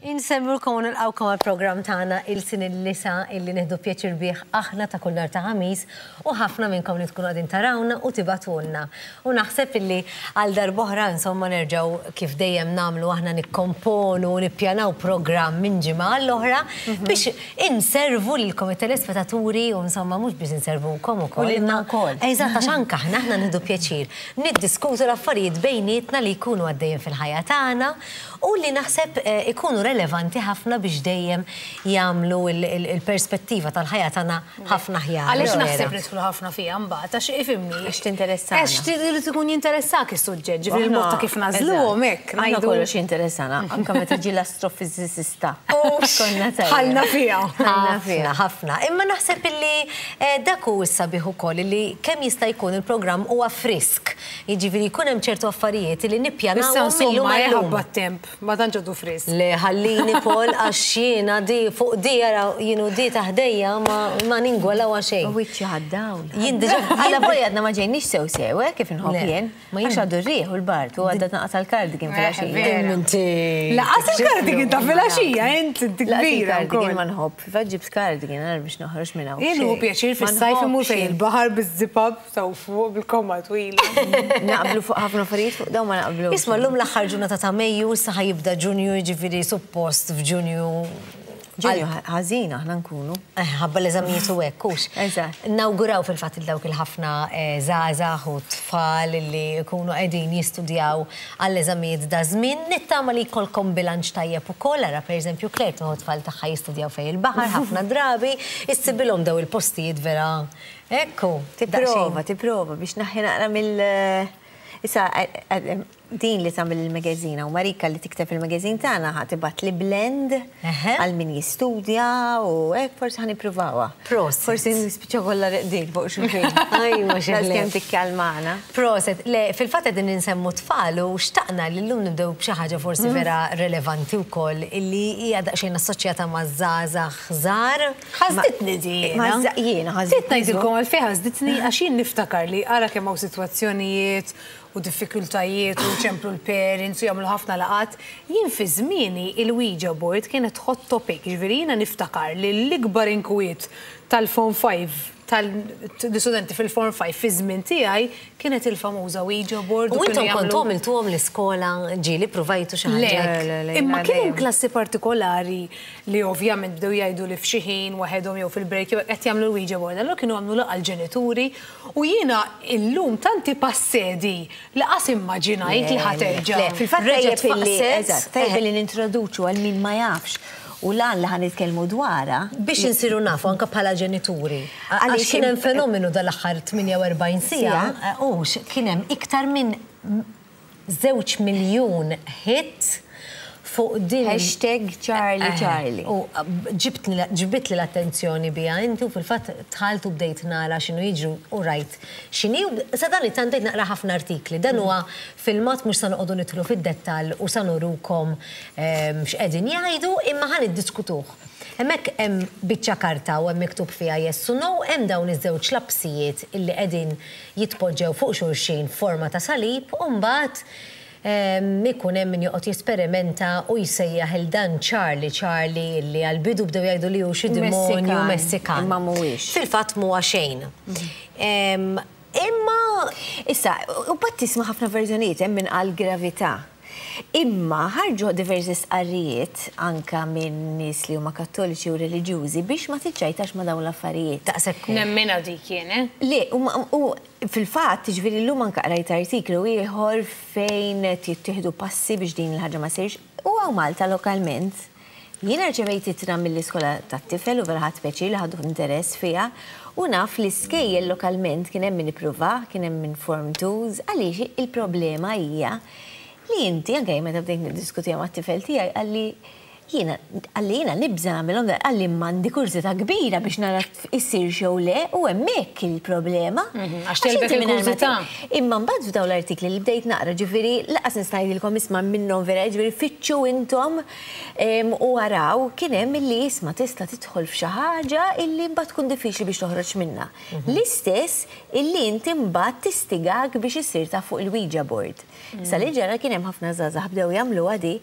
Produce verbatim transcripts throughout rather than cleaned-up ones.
Insellmulkom u nilqgħukom għal-programm tagħna Ilsien il-Lisa, illi nieħdu pjaċir bih aħna ta' kull nhar ta' Ħamis u ħafna minnkom li tkunu qegħdin tarawna u tibagħtulna. U naħseb illi għal darb'oħra, insomma, nerġgħu kif dejjem nagħmlu aħna, nikkomponu u nippjanaw programm minn ġimgħa għall-oħra biex inservu lilkom it-telespettaturi u, insomma, mhux biex inservukom ukoll. U lilna wkoll. Eżatt, għax anke aħna aħna nieħdu pjaċir niddiskutu l-affarijiet bejnietna li jkunu għaddejjin fil-ħajja tagħna u li naħseb eh, ikunu relevanti ħafna biex dejjem jagħmlu il-perspettiva tal-ħajja tagħna ħafna aħjar. Għaliex naħseb nidħlu ħafna fiha mbagħad, għax ifhimni. Għax tinteressana. Għax trid ikun jinteressak is-suġġett, ġifieri il-mod ta' kif nagħżluhom hekk. Aħna kollox jinteressana, anke meta ġi l-astrofizicista. Konna tajjeb. Ħalna fiha. Ħalna fiha. Ħafna, ħafna. Imma naħseb illi eh, dak hu s-sabiħ ukoll, illi kemm jista' jkun il-programm huwa frisk. Jiġifieri jkun hemm ċertu affarijiet li Issa nippjanawhom insomma illum għal-lum. ħabba t-temp, ma tantx għadu frisk. Le, ħallini, Paul, għax jiena di fuq di ara jienu di taħdejja ma, ma ningwalaw xejn. U wiċċi ħad-dawl. Jien diġà- Għalla boja għadna ma ġejniex sew sew, eh, kif nħobb Le, jien. ma jien- Għax għadu r-riħ u l-bard u għadda naqas għal-cardigan fil-għaxija. vera. Inti. Lanqas il-cardigan ta' filgħaxija, inti inti Laqas kbira il-cardigan wkoll. ma nħobb. Faġġib cardigan għar biex noħroġ minn hawn. Jien hu pjaċir fis-sajf imur fejn il-baħar biż-zip-up sew fuq bil-komma twila. Naqblu fuq ħafna affarijiet, fuq dawn ma naqblu. Isma', llum l-aħħar ġurnata ta' Mejju, issa ħa jibda Ġunju, ġifieri suppost f'Ġunju. Ġunju ħażin aħna nkunu. Eh, ħabba l-eżamijiet u hekk, hux. Eżatt. Nawguraw fil-fatt il dawk il-ħafna eh, żgħażagħ u tfal li jkunu qegħdin jistudjaw għall-eżamijiet da żmien. Nittama li jkollkom bilanċ tajjeb ukoll, ara pereżempju Claire tieħu tfal tagħha jistudjaw fejn il-baħar ħafna drabi, issibilhom daw il-postijiet vera. Ekku. Tipprova, tipprova biex naħi naqra mill- Issa, din li tagħmel il-magazzina u Marika li tikteb il-magazzin tagħna ħa tibgħat li blend Eħe. għal min jistudja u hekk forsi ħa nippruvawha. Proset. Forsi nispiċċa kollha reqdin fuq xulxin. Ajwa, xi Daqs ħlef. kemm tikkalmana. Proset, le, fil-fatt qegħdin insemmu tfal u xtaqna li llum nibdew b'xi ħaġa forsi vera relevanti wkoll, illi hija daqsxejn assoċjata ma' żgħażagħ żgħar. Ħasditni di. Ma jiena ħasditni. Sitt ngħidilkom għalfejn ħasditni, għax jien niftakar li ara kemm hawn sitwazzjonijiet u diffikultajiet u ċemplu l-parents u jagħmlu ħafna laqat. Jien fi żmieni il-Ouija board kienet hot topic, ġifieri jiena niftakar li l-ikbar inkwiet tal-Form five, tal-studenti fil-Form five fi żmien tiegħi kienet il-famuża Ouija board. U kienu intom jagħmlu- kontu għamiltuhom l-iskola, ġieli provajtu xi Le, ħaġa? Le, le, imma jiena kien hemm dejjem. klassi partikolari li ovvjament bdew jgħidu li f'xi ħin waħedhom jew fil-break jew qed jagħmlu l-Ouija board. Allura kienu għamlu laqgħa l-ġenituri u jiena illum tanti passedi li qas immaġinajt li ħa terġa'. Le, Fil-fatt Reġgħet tajjeb illi, faqset. eżatt, tajjeb illi nintroduċu għal min ma jafx u lan li ħa nitkellmu dwarha. Biex insiru nafu anka bħala ġenituri. Għaliex Għaliex kien hemm fenomenu dal-aħħar tmienja u erbgħin siegħa, u kien hemm iktar minn żewġ miljun hit fuq din Hashtag Charlie Eh, Charlie. U ġibtni ġibitli l-attenzjoni bija inti u fil-fatt dħalt u bdejt nara x'inhu jiġru u rajt x'inhi u sa dan it-tant bdejt naqra ħafna artikli. Dan huwa filmat, mhux sa noqogħdu nidħlu fid-dettall u sa nurukom ehm, x'qegħdin jgħidu, imma ħa niddiskutuh. Hemmhekk hemm biċċa karta u hemm miktub fiha yes u no, hemm dawn iż-żewġ lapsijiet illi qegħdin jitpoġġew fuq xulxin forma ta' salib u mbagħad ikun hemm min joqgħod jesperimenta u jsejjaħ il dan Charlie Charlie, li għal-bidu bdew jgħidu li hu xi demonju Messikan, Messikan. Imma mhuwiex. Fil-fatt mhuwa xejn. Em, Imma Issa, u bat tisma' ħafna verżjonijiet, hemm min qal gravità. Imma ħarġu diversi stqarrijiet anka minn nies li huma Kattoliċi u reliġjużi biex ma tiċċajtax ma' dawn l-affarijiet. Daqshekk. Nemmina dik jien, eh? Le, u ma- u fil-fatt, ġifieri llum anka qrajt artiklu ieħor fejn jittieħdu passi biex din il-ħaġa ma ssirx u hawn Malta lokalment. Jiena rċevejt ittra mill-iskola tat-tifel u vera ħadt pjaċir li ħadu interess fiha u naf li skejjel lokalment kien hemm min ippruva, kien hemm min form twos, għaliex il-problema hija li inti anke meta bdejt niddiskutiha mat-tifel tiegħi qalli jiena qalli jiena nibża nagħmilhom, qalli m'għandi kurżità kbira biex nara issir jew le, u hemmhekk il-problema. Għax telbek inti mingħajr ma il-kurżità. Imma mbagħad f'dawn l-artikli li bdejt naqra, ġifieri lanqas nista' ngħidilkom isma' minnhom vera, ġifieri fittxu intom em, u araw, kien hemm illi isma' tista' tidħol f'xi ħaġa illi mbagħad tkun diffiċli biex toħroġ minnha. L-istess illi inti mbagħad tistigak biex issir ta' fuq il-Ouija board. Issa li ġara kien hemm ħafna żgħażagħ bdew jagħmluha di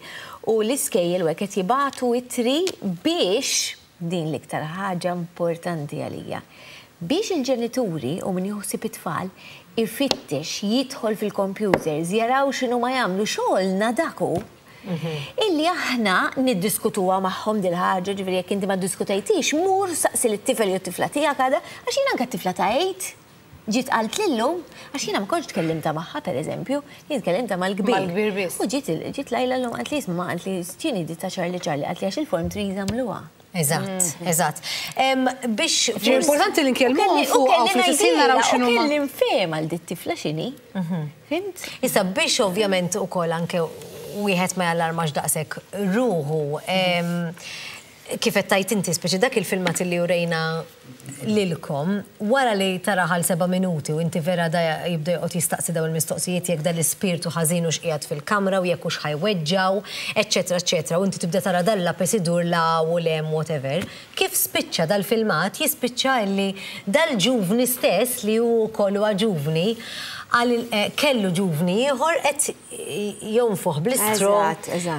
u l-iskejjel u hekk qed jibagħtu jibagħtu ittri biex din l-iktar ħaġa importanti għalija. Biex il-ġenituri u min jaħseb it-tfal ifittex jidħol fil-computers, jaraw x'inhu ma jagħmlu xogħolna dak hu. Illi aħna niddiskutuha magħhom dil-ħaġa, ġifieri jekk inti ma ddiskutejtix, mur saqsi lit-tifel jew tifla tiegħek għada, għax jien anke t-tifla ta' eight ġiet qalt lillum, għax jiena ma kontx tkellimta magħha pereżempju, jien tkellimta mal-kbir. Mal-kbir biss. U ġiet ġiet Lajla llum qalt li isma' qalt li x'inhi di ta' Charlie Charlie, qalt li għax il-form threes għamluha. Eżatt, eżatt. Biex Importanti li nkellmuhom fuq u fl-istess naraw x'inhu U kelli nfhem għal dit tifla x'inhi. Fhimt? Issa biex ovvjament ukoll anke wieħed ma jallarmax daqshekk ruħu. Kif qed tajt inti, speċi dak il-filmat li urejna lilkom, wara li tara għal seba' minuti u inti vera da jibda joqgħod jistaqsi dawn il-mistoqsijiet jekk dan l-ispirtu ħażin u x'qiegħed fil-kamra u jekk hux ħa jweġġgħu, eċċetera, eċċetera, u inti tibda tara dan lapes idur la u lem whatever. Kif spiċċa dal-filmat jispiċċa illi dal-ġuvni stess li hu wkoll huwa ġuvni għal kellu ġuvni ieħor qed jonfoħ bl-istro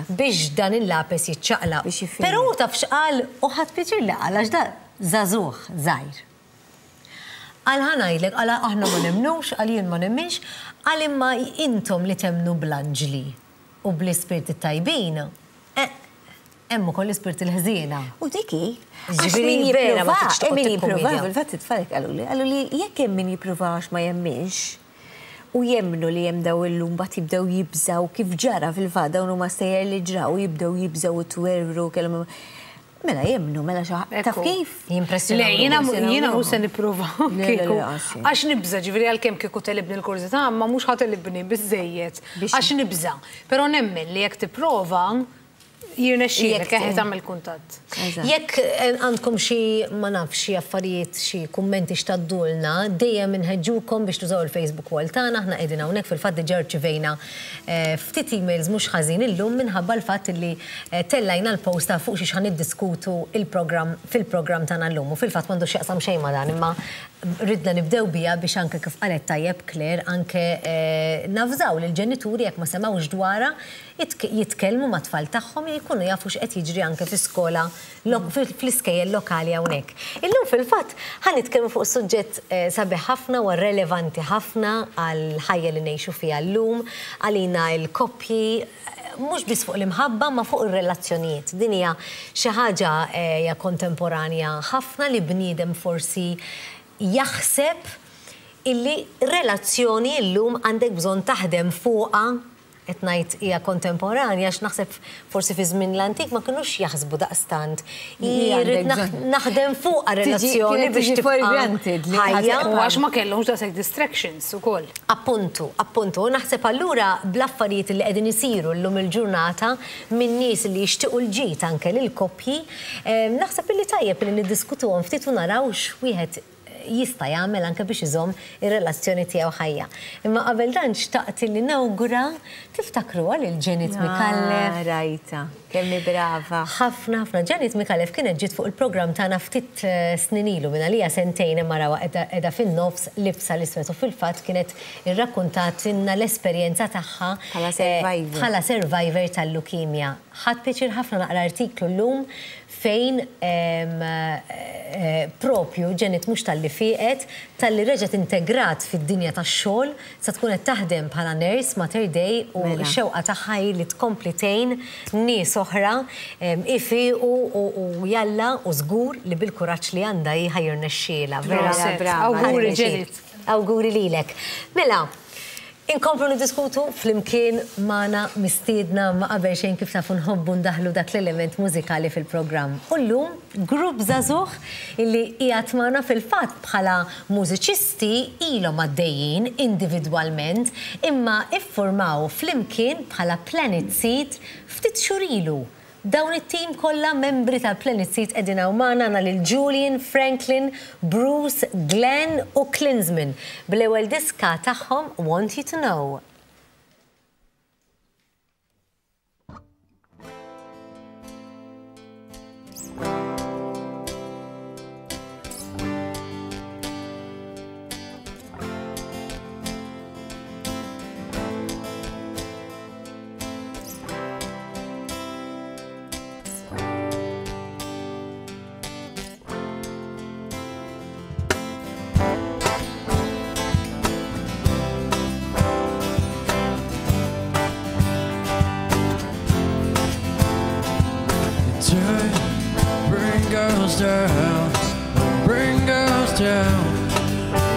biex dan il-lapes jiċċaqlaq. Però hu taf x'qal u ħadd pjaċir li qal għax da żagħżugħ żgħir. Qal ħa ngħidlek, qal aħna ma nemnux, qal jien ma nemminx, qal imma intom li temnu bl-anġli u bl-ispirti tajbin, hemm ukoll l-ispirti l-ħżiena. U dik hi, għax min jipprova, min jipprova, fil-fatt it-tfal qalu li, qalu li jekk hemm min jipprova għax ma jemminx, u jemmnu li hemm daw illum mbagħad jibdew jibżaw kif ġara fil-fatt dawn huma stejjer li ġraw jibdew jibżaw u twerwru kellhom. Mela jemmnu, mela xi taf kif? Jimpressjonaw. Le, jiena jiena mhux se nipprova kieku. Għax nibża' ġifieri għalkemm kieku telibni l-kurżità, ma mhux ħa telibni biżejjed. Għax nibża'. Però nemmen li jekk tipprova jirnexxielek eħe tagħmel kuntatt. Jekk għandkom xi ma nafx xi affarijiet, xi kummenti x'taddulna, dejjem inħeġġukom biex tużaw il-Facebook wall tagħna, aħna qegħdin hawnhekk fil-fatt diġà rċivejna ftit emails mhux ħażin illum minħabba l-fatt li tellajna l-posta fuq xi x'ħan niddiskutu il-programm fil-programm tagħna llum u fil-fatt m'għandux x'jaqsam xejn ma' dan imma ridna nibdew biha biex anke kif qalet tajjeb Claire anke navżaw lill-ġenituri jekk ma semgħux dwarha jitkellmu mat-tfal tagħhom jkunu jafu x'qed jiġri anke fl-iskola fl-iskejjel lokali hawnhekk. Illum fil-fatt ħa nitkellmu fuq suġġett sabiħ ħafna u relevanti ħafna għall-ħajja li ngħixu fiha llum, għalina l-koppji, mhux biss fuq l-imħabba ma fuq ir-relazzjonijiet. Din hija xi ħaġa hija kontemporanja ħafna li bniedem forsi jaħseb illi relazzjoni llum għandek bżonn taħdem fuqha. Qed ngħid hija kontemporanja għax naħseb forsi fi żmien l-antik ma kinux jaħsbu daqstant. Irrid naħdem fuqha relazzjoni biex tibqa' ħajja. U għax ma kellhomx daqshekk distractions ukoll. Appuntu, appuntu. U naħseb allura bl-affarijiet li qegħdin isiru llum il-ġurnata minn nies li jixtiequ l-ġid anke lill-koppji, naħseb illi tajjeb li niddiskutuhom ftit u naraw x'wieħed jista' jagħmel anke biex iżomm ir-relazzjoni tiegħu ħajja. Imma qabel dan xtaqt li nawgura tiftakruha lil Janet Micallef. Rajta, kemm hi brava. Ħafna ħafna. Janet Micallef kienet ġiet fuq il-programm tagħna ftit snin ilu minn għalija sentejn imma rawha qiegħda fin-nofs libsa l-iswed u fil-fatt kienet irrakkuntatilna l-esperjenza tagħha bħala survivor tal-lukemja. Ħadt pjaċir ħafna naqra artiklu llum fejn propju Janet mhux talli fieqet, talli reġgħet integrat fid-dinja tax-xogħol, sa tkun qed taħdem bħala nurse Mater Dei u x-xewqa tagħha hi li tkompli tgħin nies oħra ifiqu u jalla u żgur li bil-kuraġġ li għandha hi ħa jirnexxielha. Vera, awguri Janet. Awguri lilek. Mela, inkomplu niddiskutu flimkien magħna mistiedna ma qabel xejn kif tafu nħobbu ndaħlu dak l-element mużikali fil-programm. U llum grupp żagħżugħ illi qiegħed magħna fil-fatt bħala mużiċisti ilhom għaddejjin individwalment imma iffurmaw flimkien bħala Planet Seed ftit xhur ilu. Dawn it-tim kollha membri ta' Planet Seed qegħdin hawn magħna għandna lil Julian, Franklin, Bruce, Glenn u Klinsman bl-ewwel diska tagħhom Want You to Know. us down, bring us down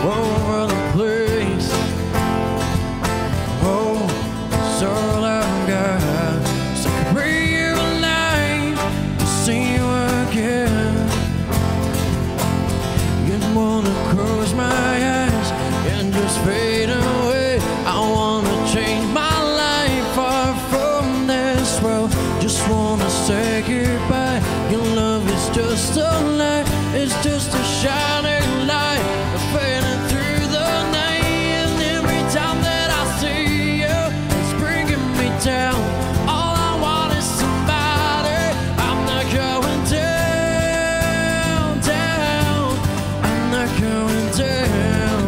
over the place. Oh, it's all I've got. So I can realize to see you again. You'd wanna close my eyes and just fade away. I wanna change my life far from this world. Just wanna say goodbye. Your love is just a lie. It's just a shining light fading through the night. And every time that I see you, it's bringing me down. All I want is somebody. I'm not going down, down. I'm not going down.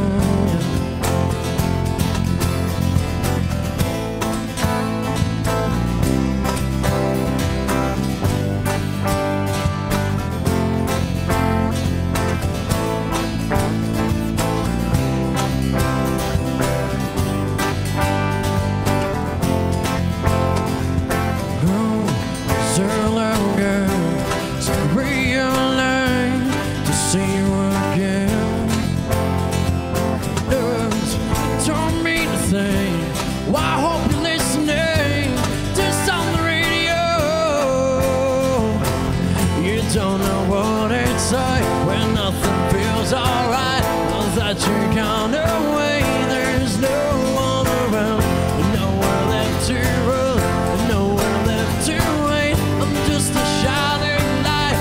Oh, it's all I've got. So I realize to see you again. Words don't mean a thing. Well, I hope you're listening. Just on the radio. You don't know what it's like when nothing feels alright. Now that you're gone away, there's no one around, nowhere left to run, nowhere left to wait. I'm just a shining light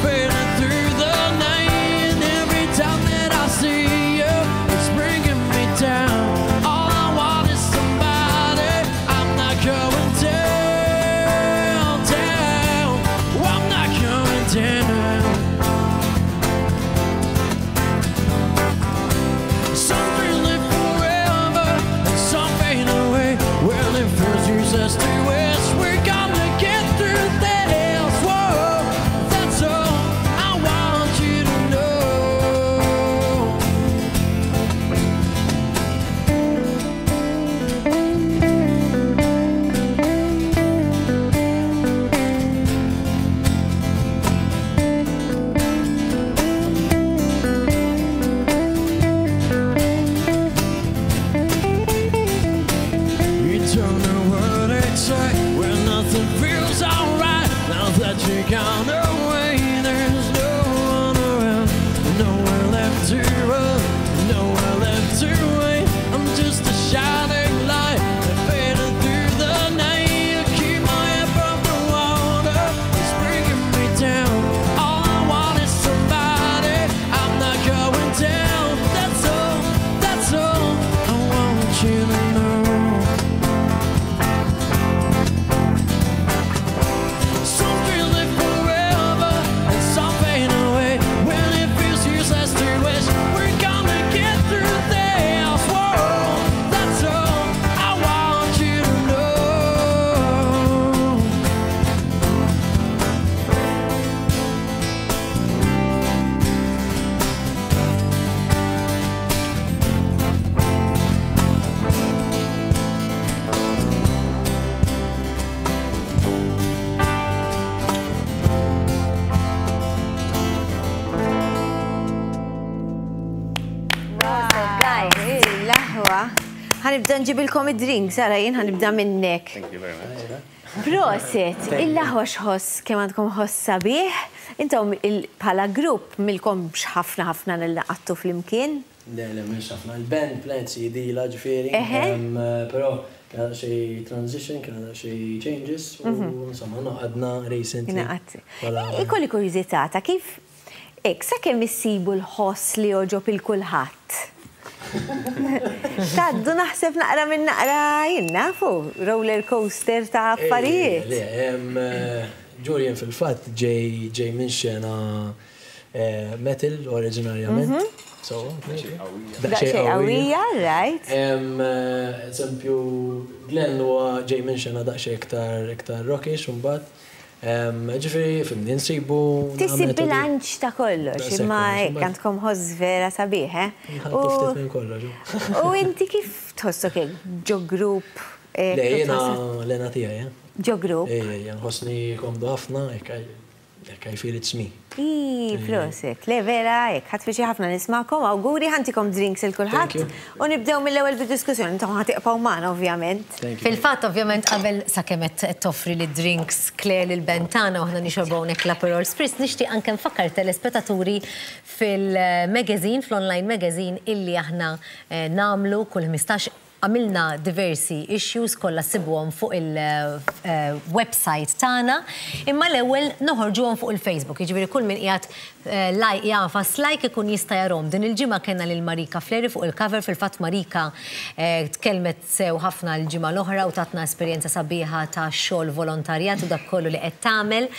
fading through the night. And every time that I see you, it's bringing me down. All I want is somebody. I'm not going down, down. I'm not going down. Some feel it forever and some fade away. Well, it feels useless to us. We're gonna get through this. Whoa, that's all I want you to know. You don't know what it's like when nothing feels alright. Now that you're gone away, there's no one around, nowhere left to run, nowhere left to wait. I'm just a shining light fading through the night. You keep my head above the water, it's bringing me down. All I want is somebody. I'm not going down. That's all. That's all I want you to know. Some feel it forever and some fade away. When it feels useless to wish, we're gonna get through this. Whoa, that's all I want you to know. Guys, l-aħwa. Ħa nibda nġibilkom id-drink, Sara, jien ħa nibda minnek. Thank you very much. Prosit, il-aħwa xħoss kemm għandkom ħoss sabiħ. Intom il- bħala grupp milkom ħafna ħafna nil-laqattu flimkien. Le, le, mhux ħafna. Il-band Planet C D la ġifieri. Eħe. Em, Però kien xi transition, kien xi changes u insomma noqgħodna recently. Ingħaqadt. Bħala- Ikolli kurjużità ta' kif Ek, sa kemm issibu l-ħoss li joġob il-kulħadd? Taddu naħseb naqra minn naqra jien nafu, roller coaster ta' affarijiet. Le, em, eh, Julian fil-fatt ġej ġej minn xena eh, metal oriġinarjament. So, Daqsxejn qawwija, right? Em, eh, Eżempju, Glenn huwa ġej minn xena daqsxejn iktar iktar rockish mbagħad. Ġifieri, fimni, nsibu. Tisib bilanċ ta' kollox, Daqshekk imma kollox, hekk imbagħad- għandkom ħoss vera sabiħ, eh? Nħaltu ftit minn kollox. U inti kif tħossok hekk ġo grupp? eh, Le, kif jiena tħossok l-ena tiegħi, eh? Ġo grupp. Ej, ej, nħossni komdu ħafna, hekk Like I feel it's me. Ii, prosit. Le, vera, hekk, ħadt pjaċir ħafna nismagħkom, awguri, ħa ntikom drinks lil kulħadd. Thank you. U nibdew mill-ewwel bid-diskussjoni, intom ħa tibqgħu magħna, ovvjament. Thank you. Fil-fatt, ovvjament, qabel sakemm qed toffri li drinks Claire lil bentana u aħna nixorbu hawnhekk l-Aperol Spritz, nixtieq anke nfakkar telespettaturi fil-magazine, fl-online magazine illi aħna eh, nagħmlu kull ħmistax. Għamilna diversi issues kollha ssibuhom fuq il-website tagħna, imma l-ewwel noħorġuhom fuq il-Facebook. Jiġifieri kull min qiegħed eh, like jagħfas like ikun jista' jarahom. Din il-ġimgħa kellna lil Marika Fleri fuq il-cover. Fil-fatt Marika eh, tkellmet sew ħafna l-ġimgħa l-oħra u tatna esperjenza sabiħa ta' xogħol volontarjat u dak kollu li qed tagħmel.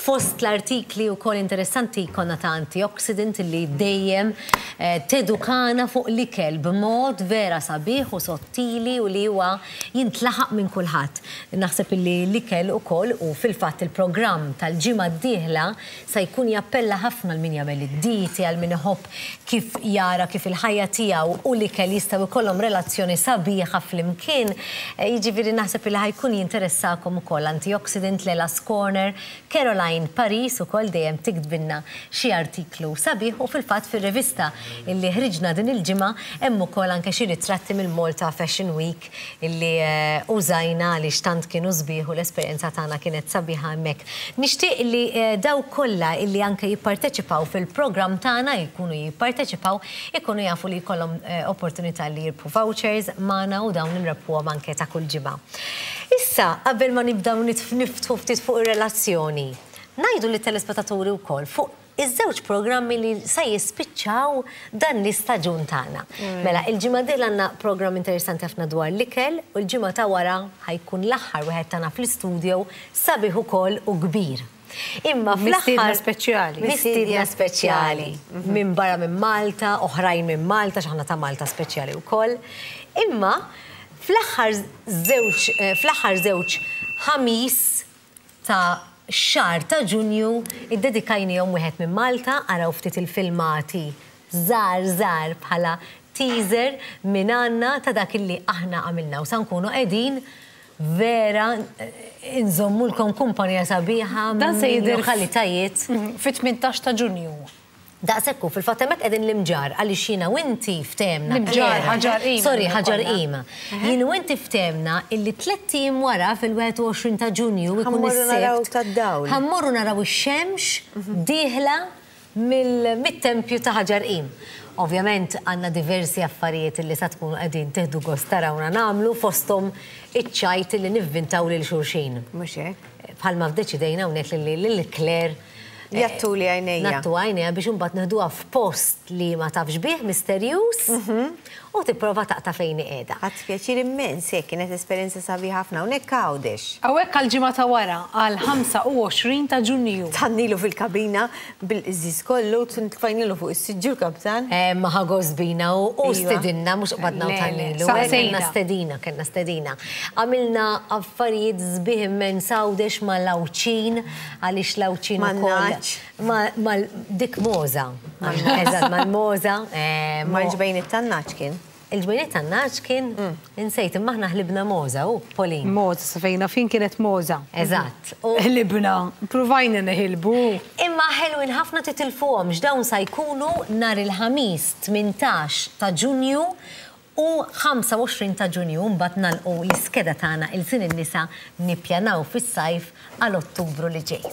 Fost l-artikli wkoll interessanti konna ta' Antioxidant li dejjem eh, tedukana fuq l-ikel b'mod vera sabiħ u sottili u li huwa jintlaħaq minn kulħadd. Naħseb illi l-ikel ukoll u fil-fatt il-programm tal-ġimgħa d-dieħla sa jkun jappella ħafna għal min jagħmel id-dieti, għal min iħobb kif jara kif il-ħajja tiegħu u l-ikel jistgħu jkollhom relazzjoni sabiħa flimkien. Eh, Jiġifieri naħseb illi ħa jkun jinteressakom ukoll Antioxidant, Lela's Corner, Caroline Paris ukoll dejjem tiktbilna xi artiklu sabiħ u fil-fatt fir-rivista illi ħriġna din il-ġimgħa hemm ukoll anke xi ritratti mill-Malta Fashion Week illi eh, użajna għaliex tant kienu sbieħ u l-esperjenza tagħna kienet sabiħa hemmhekk. Nixtieq li eh, daw kollha illi anke jipparteċipaw fil-programm tagħna jkunu jipparteċipaw ikunu jafu li jkollhom eh, opportunità li jirbħu vouchers magħna u dawn nirrebħuhom anke ta' kull ġimgħa. Issa, qabel ma nibdew nitf- niftħu ftit fuq ir-relazzjoni, ngħidu lit-telespettaturi wkoll fuq iż-żewġ programmi li sa jispiċċaw dan l-istaġun tagħna. Mela, il-ġimgħa dieħla għandna programm interessanti ħafna dwar l-ikel u l-ġimgħa ta' wara ħa jkun l-aħħar wieħed tagħna fl-istudio sabiħ ukoll u kbir. Imma Mistiedna fl-aħħar speċjali. Mistiedna speċjali. Minn barra minn Malta, oħrajn minn Malta, x'aħna ta' Malta speċjali wkoll. Imma fl-aħħar żewġ eh, fl-aħħar żewġ Ħamis ta' xahar ta' Ġunju iddedikajnihom wieħed minn Malta, araw ftit il-filmati żgħar żgħar bħala teaser minn għandna ta' dak illi aħna għamilna u sa nkunu qegħdin vera eh, nżommulkom kumpanija sabiħa Dan se minn jidher lokalitajiet. Fit-tmintax ta' Ġunju. Daqsekku, fil-fatt hemmhekk qegħdin l-Imġarr, għaliex jiena u inti ftehemna. L-Imġarr, Ħaġar Qim. Sorry, Ħaġar Qim. Jien u inti ftehemna illi tlett ijiem wara fil-wieħed u għoxrin ta' Ġunju ikun Ħa mmorru naraw is-Sibt. tad-dawl. Ħa mmorru naraw ix-xemx dieħla mill-tempju ta' Ħaġar Qim. Ovvjament għandna diversi affarijiet li sa tkunu qegħdin tieħdu gost tarawna nagħmlu, fosthom iċ-ċajt li nivvintaw lil xulxin. Mhux hekk? Bħalma fdeċidejna hawnhekk li lil Claire Jgħattuli għajnejja. Ngħattu għajnejha biex imbagħad neħduha f'post li ma tafx bih misterjuż u tipprova taqta' fejn qiegħda. Ħadt pjaċir immens, hekk kienet esperjenza sabiħa ħafna hawnhekk Għawdex. Hawnhekk għal-ġimgħa ta' wara, għal ħamsa u għoxrin ta' Ġunju. Tannilu fil-kabina bil-qżis kollu, tfajnilu fuq is-siġġu l-kaptan. Eh, Ma ħa gost bina u u Iva. stedinna, mhux qbadna u Le, le, tannilu. saqsejna. Kellna stedina, kellna stedina. Għamilna affarijiet sbieħ immens Għawdex mal-Għawdxin, għaliex l-Għawdxin ukoll. Man-nagħaġ. Ma, ma, dik Moza. Eżatt, mal-Moza. eh, mo- Mal-ġbejniet tan-nagħaġ kien. Il-ġbejniet tan-nagħaġ kien, insejt, imma aħna ħlibna Moza, u Pauline. Moza, sa fejna fin kienet Moza. Eżatt. U Ħlibna, provajna neħilbu. Imma ħelwin ħafna, titilfuhom, dawn sa jkunu nhar il-Ħamis tmintax ta' Ġunju u ħamsa u għoxrin ta' Ġunju, mbagħad nagħlqu l-iskeda tagħna il-sin in-nisa nippjanaw fis-sajf għal Ottubru li ġej.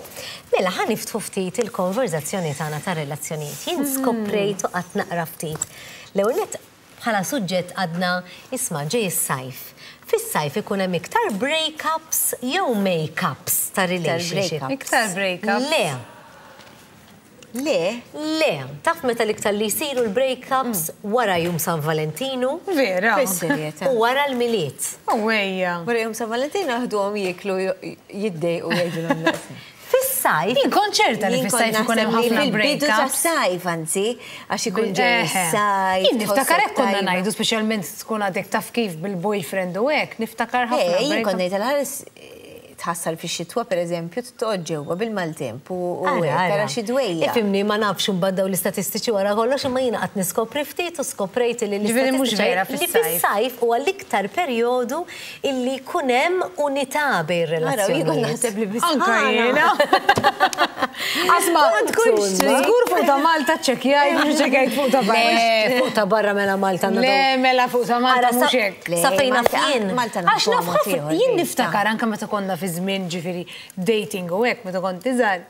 Mela ħa niftħu ftit il-konverzazzjoni tagħna ta' relazzjonijiet. Jien skoprejt u qatt naqra ftit. L-ewwel nett bħala suġġett għadna isma' ġej is-sajf. Fis-sajf ikun hemm iktar breakups jew make-ups ta' relationship? Breakups. Iktar breakups. Le, Le, le, taf meta l-iktar li jsiru l-breakups? Wara jum San Valentinu Vera. Fis-serjetà. U wara l-Milied. Ewwejja. Wara jum San Valentino ħduhom jieklu, jiddejqu jgħidulhom daqs. Fis-sajf, Jien konċerta li fis-sajf ikun hemm ħafna Fil-bidu breakups. tas-sajf, anzi, għax ikun ġej Eħe. is-sajf. Jien niftakar hekk konna tħossok tajba. ngħidu, speċjalment tkun għadek taf kif bil-boyfriend u hekk, niftakar Eh, ħafna. jien kont breakups. ngħid għal-ħares tħassar fix-xitwa pereżempju toqgħod ġewwa bil-maltemp u tara xi dwejja. Ifhimni, ma nafx imbagħad daw l-istatistiċi wara kollox, imma jiena qatt niskopri ftit u skoprejt li l-istatistiċi li fis-sajf huwa l-iktar perjodu illi jkun hemm unità bejn relazzjonijiet. Naħseb li Anka jiena. Asma, żgur fuq ta' Malta ċċekkjajt, mhux ċċekkjajt fuq ta' barra. Le, fuq ta' barra mela Malta. Le, mela fuq ta' Malta mhux hekk. Sa fejn naf jien. Għax naf ħafna, jien niftakar anke meta konna fi żmien ġifieri dating u hekk meta kont iżgħar.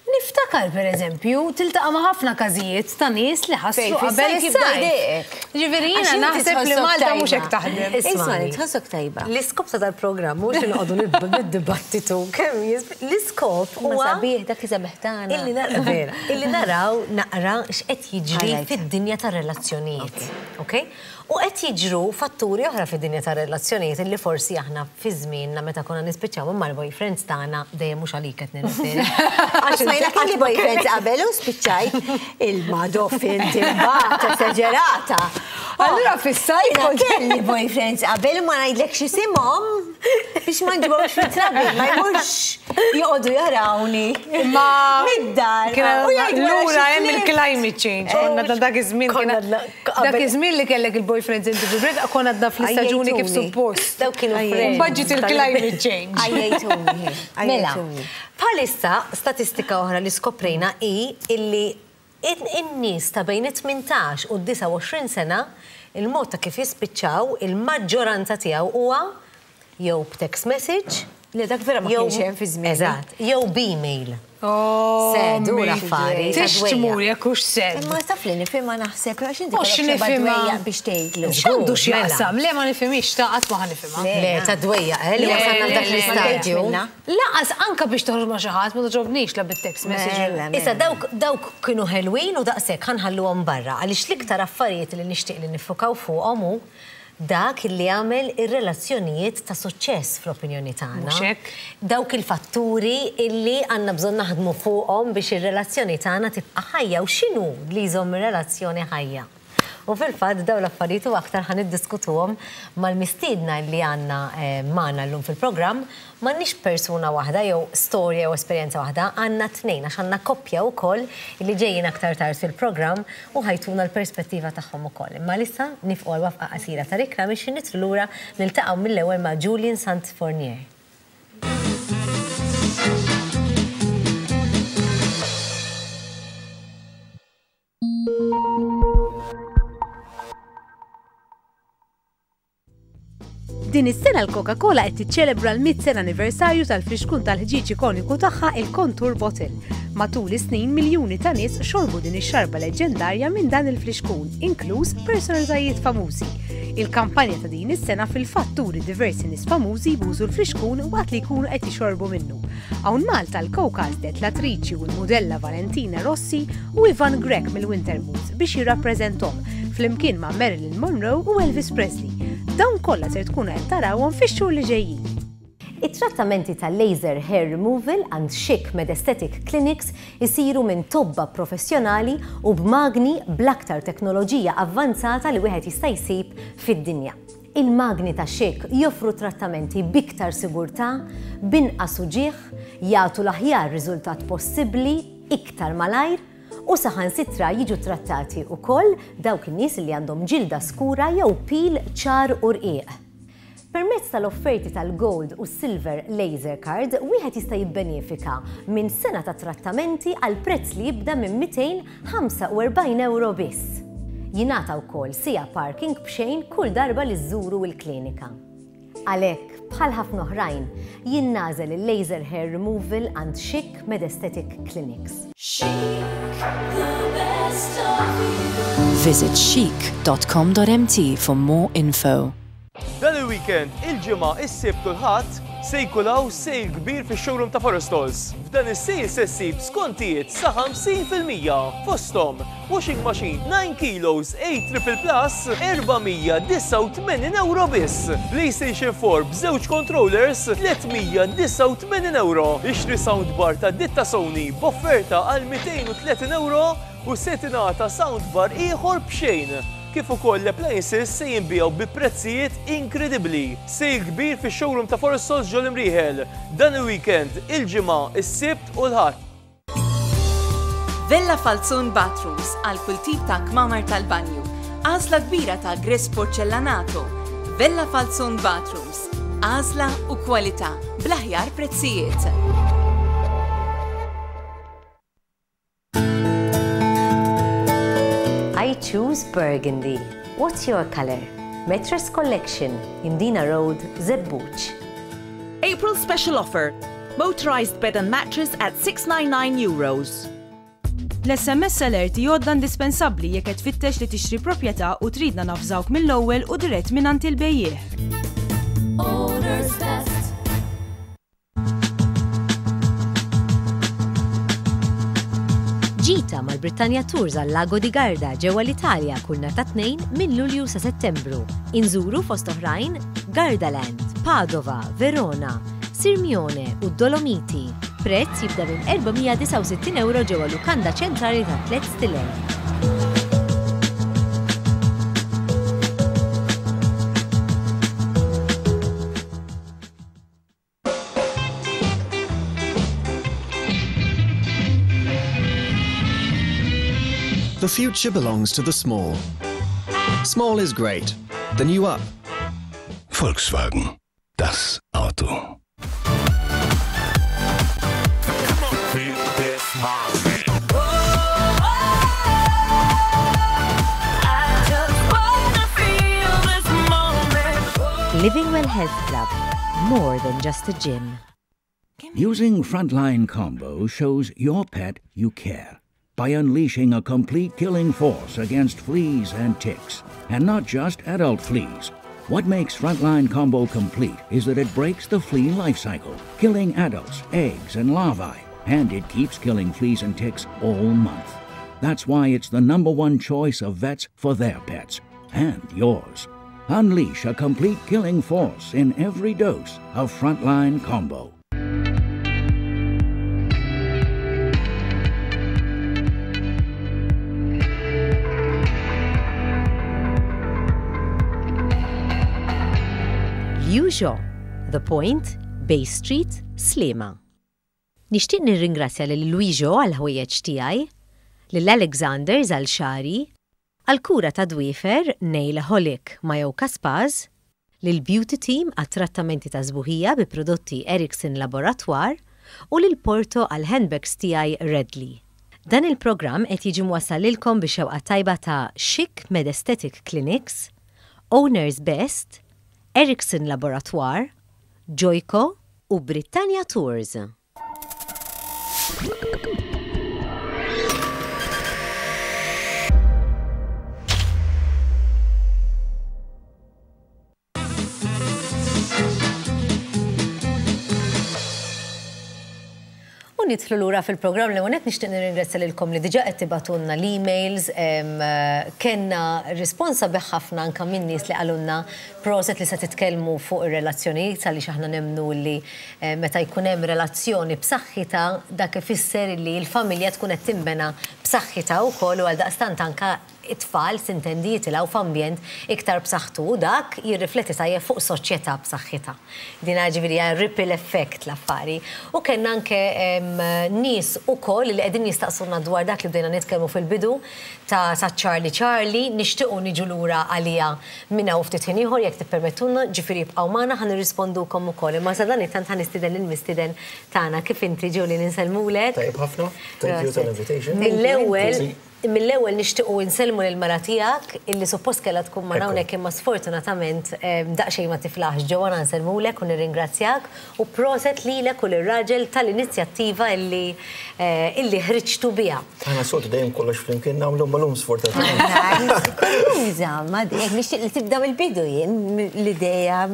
Niftakar per eżempju, tiltaqa' ma' ħafna każijiet ta' nies li ħassu qabel is-sajf. Ġifieri jiena naħseb li Malta mhux hekk taħdem. Isma' tħossok tajba. L-iskop ta' dal-programm mhux li noqogħdu nid-dibattitu kemm l-iskop huwa sabiħ dak iżabeħ tagħna. Illi naraw naqra x'qed jiġri fid-dinja tar-relazzjonijiet. Okay? U qed jiġru fatturi oħra fid-dinja tar-relazzjonijiet illi forsi aħna fi żmienna meta konna nispiċċaw mal-boyfriends tagħna dejjem mhux għalik qed nirreferi. Għax ma jiena kelli boyfriends qabel u spiċċajt il-madoff inti mbagħad esaġerata. Allura fis-sajf kelli boyfriends qabel ma ngħidlek x'isimhom biex ma nġibhomx fit-trabi, ma jmurx joqogħdu jarawni. Ma mid-dar. Lura hemm il-climate change, konna dak iż-żmien dak iż-żmien li kellek il-boyfriends inti fil-break, konna għadna fl-istaġuni kif suppost. Dawk kienu friends. Budget il-climate change. Għajjejtuni. Mela, bħalissa statistika oħra li skoprejna hi illi in-nies ta' bejn it-tmintax u d-disgħa u għoxrin sena il-mod ta' kif jispiċċaw il-maġġoranza tiegħu huwa jew b'text message, Le dak vera ma kienx hemm fi żmien. Eżatt, jew b'email. Sedu l-affari. Tixtmur jekk hux sed. Imma taf li nifhimha naħseb għax inti nifhimha biex tgħidlu. X'għandu x'jaqsam? Le ma nifhimix ta' qatt ma ħanifhimha. Le ta' dwejja, eh, li wasalna f'dak l-istadju. Laqas anka biex toħroġ ma' xi ħadd ma toġobnix la bit-text message. Issa dawk dawk kienu ħelwin u daqshekk ħanħalluhom barra għaliex l-iktar affarijiet li nixtieq li niffukaw fuqhom hu dak li għamel ir-relazzjonijiet ta' suċċess fl-opinjoni tagħna. Dawk il-fatturi illi għandna bżonn naħdmu fuqhom biex ir-relazzjoni tagħna tibqa' ħajja u x'inhu li jżomm ir-relazzjoni ħajja. U fil-fatt dawn l-affarijiet u aktar ħan niddiskutuhom mal-mistiedna li għandna magħna llum fil-programm. M'għandniex persuna waħda jew storja jew esperjenza waħda, għandna tnejn għax għandna koppja wkoll li ġejjin aktar tard fil-programm u ħajtuna l-perspettiva tagħhom ukoll. Imma issa nifqu għal wafqa qasira ta' rikla biex nitru lura niltaqgħu mill-ewwel ma' Julian Sant Fournier. Din is-sena l-Coca-Cola qed tiċċelebra l-mitt sena anniversarju tal-flixkun tal-ħġieġ ikoniku tagħha il-Contour Bottle. Matul is-snin miljuni ta' nies xorbu din ix-xarba leġendarja minn dan il-flixkun, inkluż personalitajiet famużi. Il-kampanja ta' din is-sena fil-fatt turi diversi nies famużi jbużu l-flixkun waqt li jkunu qed jixorbu minnu. Hawn Malta l-Coke għażlet l-attriċi u l-mudella Valentina Rossi u Ivan Grech mill-Winter Moods biex jirrappreżenthom flimkien ma' Marilyn Monroe u Elvis Presley. Dawn kollha ser tkunu qed tarawhom fix-xhur li ġejjin. It-trattamenti tal-laser hair removal għand Chic Medesthetic Clinics isiru minn tobba professjonali u b'magni bl-aktar teknoloġija avvanzata li wieħed jista' jsib fid-dinja. Il-magni ta' Chic joffru trattamenti b'iktar sigurtà, b'inqas uġigħ, jagħtu l-aħjar riżultat possibbli iktar malajr u saħansitra jiġu trattati wkoll dawk in-nies li għandhom ġilda skura jew pil ċar u rqiq. Permezz tal-offerti tal-Gold u Silver Laser Card, wieħed jista' jibbenefika minn sena ta' trattamenti għal prezz li jibda minn mitejn ħamsa u erbgħin euro biss. Jingħata wkoll sija parking b'xejn kull darba li żżuru l-klinika. Għalhekk, bħal ħafna oħrajn, jien nagħżel il-laser hair removal għand Chic Medesthetic Clinics. Visit chic dot com dot m t for more info. Dan il-weekend, il-ġimgħa, is-Sibt u l-Ħadd se jkun hawn sale kbir fix-showroom ta' Forestals. F'dan is-sale se ssib skontijiet sa ħamsin fil-mija. Fosthom washing machine nine kilos A triple plus erba' mija disgħa u tmenin euro biss. PlayStation four b'żewġ controllers tliet mija disgħa u tmenin euro. Ixtri soundbar ta' ditta Sony b'offerta għal mitejn u tletin euro u se tingħata soundbar ieħor b'xejn. kif ukoll l-appliances se jinbiegħu bi prezzijiet inkredibbli. Sale kbir fix-showroom ta' Forestals ġol-Imrieħel. Dan il-weekend, il-Ġimgħa, is-Sibt u l-Ħadd. Vella Falzon Bathrooms għal kull tip ta' kmamar tal-banju. Għażla kbira ta' gres porcellanato. Vella Falzon Bathrooms. Għażla u kwalità bl-aħjar prezzijiet. I choose burgundy. What's your color? Mattress Collection, Imdina Road, Żebbuġ. April special offer. Motorized bed and mattress at six nine nine euros. L-S M S Alert għodda indispensabbli jekk qed tfittex li tixtri proprjetà u tridna navżawk mill-ewwel u dirett mingħand il-bejjiegħ. Owner's Best. Ġita mal-Britannia Tours għal Lago di Garda ġewwa l-Italja kull nhar ta' Tnejn minn Lulju sa Settembru. Inżuru fost oħrajn Gardaland, Padova, Verona, Sirmione u Dolomiti. Prezz jibda minn erba' mija u disgħa u sittin euro ġewwa lukanda ċentrali ta' tliet stilel. The future belongs to the small. Small is great. The new up. Volkswagen. Das Auto. Living Well Health Club. More than just a gym. Using Frontline Combo shows your pet you care by unleashing a complete killing force against fleas and ticks, and not just adult fleas. What makes Frontline Combo complete is that it breaks the flea life cycle, killing adults, eggs, and larvae, and it keeps killing fleas and ticks all month. That's why it's the number one choice of vets for their pets and yours. Unleash a complete killing force in every dose of Frontline Combo. Liujo, The Point, Bay Street, Sliema. Nixtieq nirringrazzja lil Luiġo għal ħwejjeġ tiegħi, lil Alexanders għal xagħri, għal kura ta' dwiefer Nailaholic Mayoka Spas, lil Beauty Team għat trattamenti ta' sbuħija bi prodotti Erickson Laboratoire u lil Porto għal handbags tiegħi Redley. Dan il-programm qed jiġi mwassal lilkom bi xewqa tajba ta' Chic Med Aesthetic Clinics, Owners Best, Erickson Laboratoire, Joyco u Britannia Tours. U nidħlu lura fil-programm. Li għonet nixtieq nirringrazzja lilkom li diġà qed tibagħtulna l-emails, em, kellna risponsa ħafna anka minn nies li qalulna proset li se titkellmu fuq ir-relazzjonijiet, għaliex aħna nemmnu li eh, meta jkun hemm relazzjoni b'saħħitha, dak ifisser li l-familja tkun qed tinbena b'saħħitha wkoll u għaldaqstant anka it-tfal sintendi jitilgħu f'ambjent iktar b'saħħtu u dak jirrifletti tajjeb fuq soċjetà b'saħħitha. Din ġifieri hija ripple effect l-affari. U kellna anke em, nies ukoll li qegħdin jistaqsuna dwar dak li bdejna nitkellmu fil-bidu ta' ta' Charlie Charlie, nixtiequ niġu lura għalija minn hawn ftit ħin ieħor jekk tippermettulna, ġifieri ibqgħu magħna, ħa nirrispondukom ukoll. Imma sa dan it-tant ħa nistieden lill-mistieden tagħna. Kif inti, Julie? Insellmulek. Tajjeb ħafna. Thank you tal-invitation. Mill-ewwel mill-ewwel nixtiequ insellmu lil mara tiegħek illi suppost kellha tkun ma hawnhekk imma sfortunatament em, daqsxejn ma tiflaħx. Joanna, nsellmulek u nirringrazzjak u proset lilek u lir-raġel tal-inizjattiva illi eh, illi ħriġtu biha. Aħna soltu dejjem kollox flimkien nagħmlu, mal-lum sfortunatament. Kurjuża, ma dik nixtieq li tibda mill-bidu jien l-idea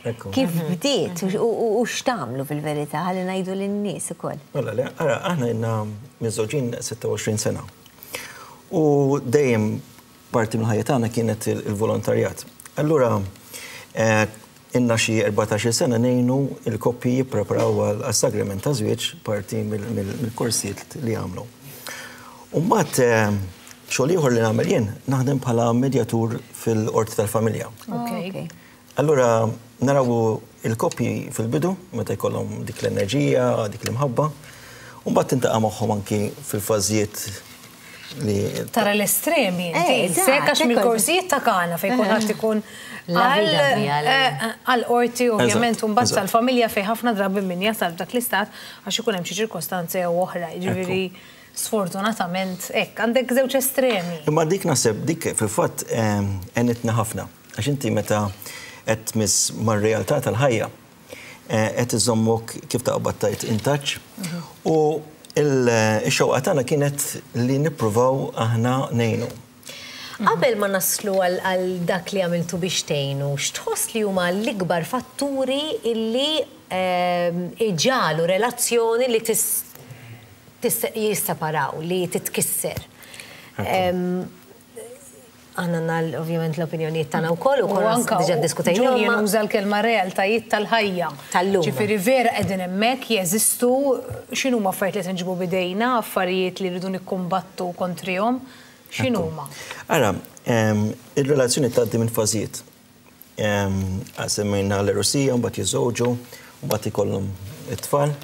Ekku. kif bdiet u- u u x'tagħmlu fil-verità, ħalli ngħidu lin-nies ukoll. Mela, le, ara, aħna ilna miżżewġin sitta u għoxrin sena. U dejjem parti mill-ħajja tagħna kienet il- il-volontarjat. Allura, eh, ilna xi erbatax-il sena ngħinu il-koppji jippreparaw għal-sagrament ta' żwieġ, parti mill- mill- mill-korsijiet li għamlu. U mbagħad eh, Xogħol ieħor li nagħmel jien, naħdem bħala medjatur fil-qorti tal-familja. Ok. Allura naraw il-koppji fil-bidu, meta jkollhom dik l-enerġija, dik l-imħabba, u mbagħad tintaqa' magħhom anki fil-fażijiet li Tara l-estremi, Eh, inti, eżatt, sekk għax ekku. mill-korsijiet ta' Kana fejn kulħadd ikun La vida mia, la- għal-qorti ovvjament Eżatt, u mbagħad eżatt. tal-familja fejn ħafna drabi min jasal f'dak l-istat għax ikun hemm xi ċirkostanze jew oħra, jiġifieri sfortunatament hekk għandek żewġ estremi. Imma dik naħseb dik fil-fatt ehm, għenitna ħafna. Għax inti meta qed tmiss mar-realtà tal-ħajja, eh, qed iżommok kif taqbad tajt in touch. U il-xewqa tagħna kienet li nippruvaw aħna ngħinu. Qabel ma naslu għal għal dak li għamiltu biex tgħinu, x'tħoss li huma l-ikbar fatturi illi ehm, iġagħlu relazzjoni li tis, tis jisseparaw, li titkisser? Ehm, Aħna għandna ovvjament l-opinjonijiet tagħna wkoll u U konna anka diġà ddiskutejna. Julian uża l-kelma realtajiet tal-ħajja. Tal-lum. Ġifieri vera qegħdin hemmhekk jeżistu x'inhuma affarijiet li qed nġibu bidejna, affarijiet li rridu nikkumbattu kontrihom, x'inhuma? Ara, ehm, il-relazzjoni tgħaddi minn fażijiet. Ehm, Semmejna l-għerusija, mbagħad jiżżewġu, mbagħad ikollhom it-tfal,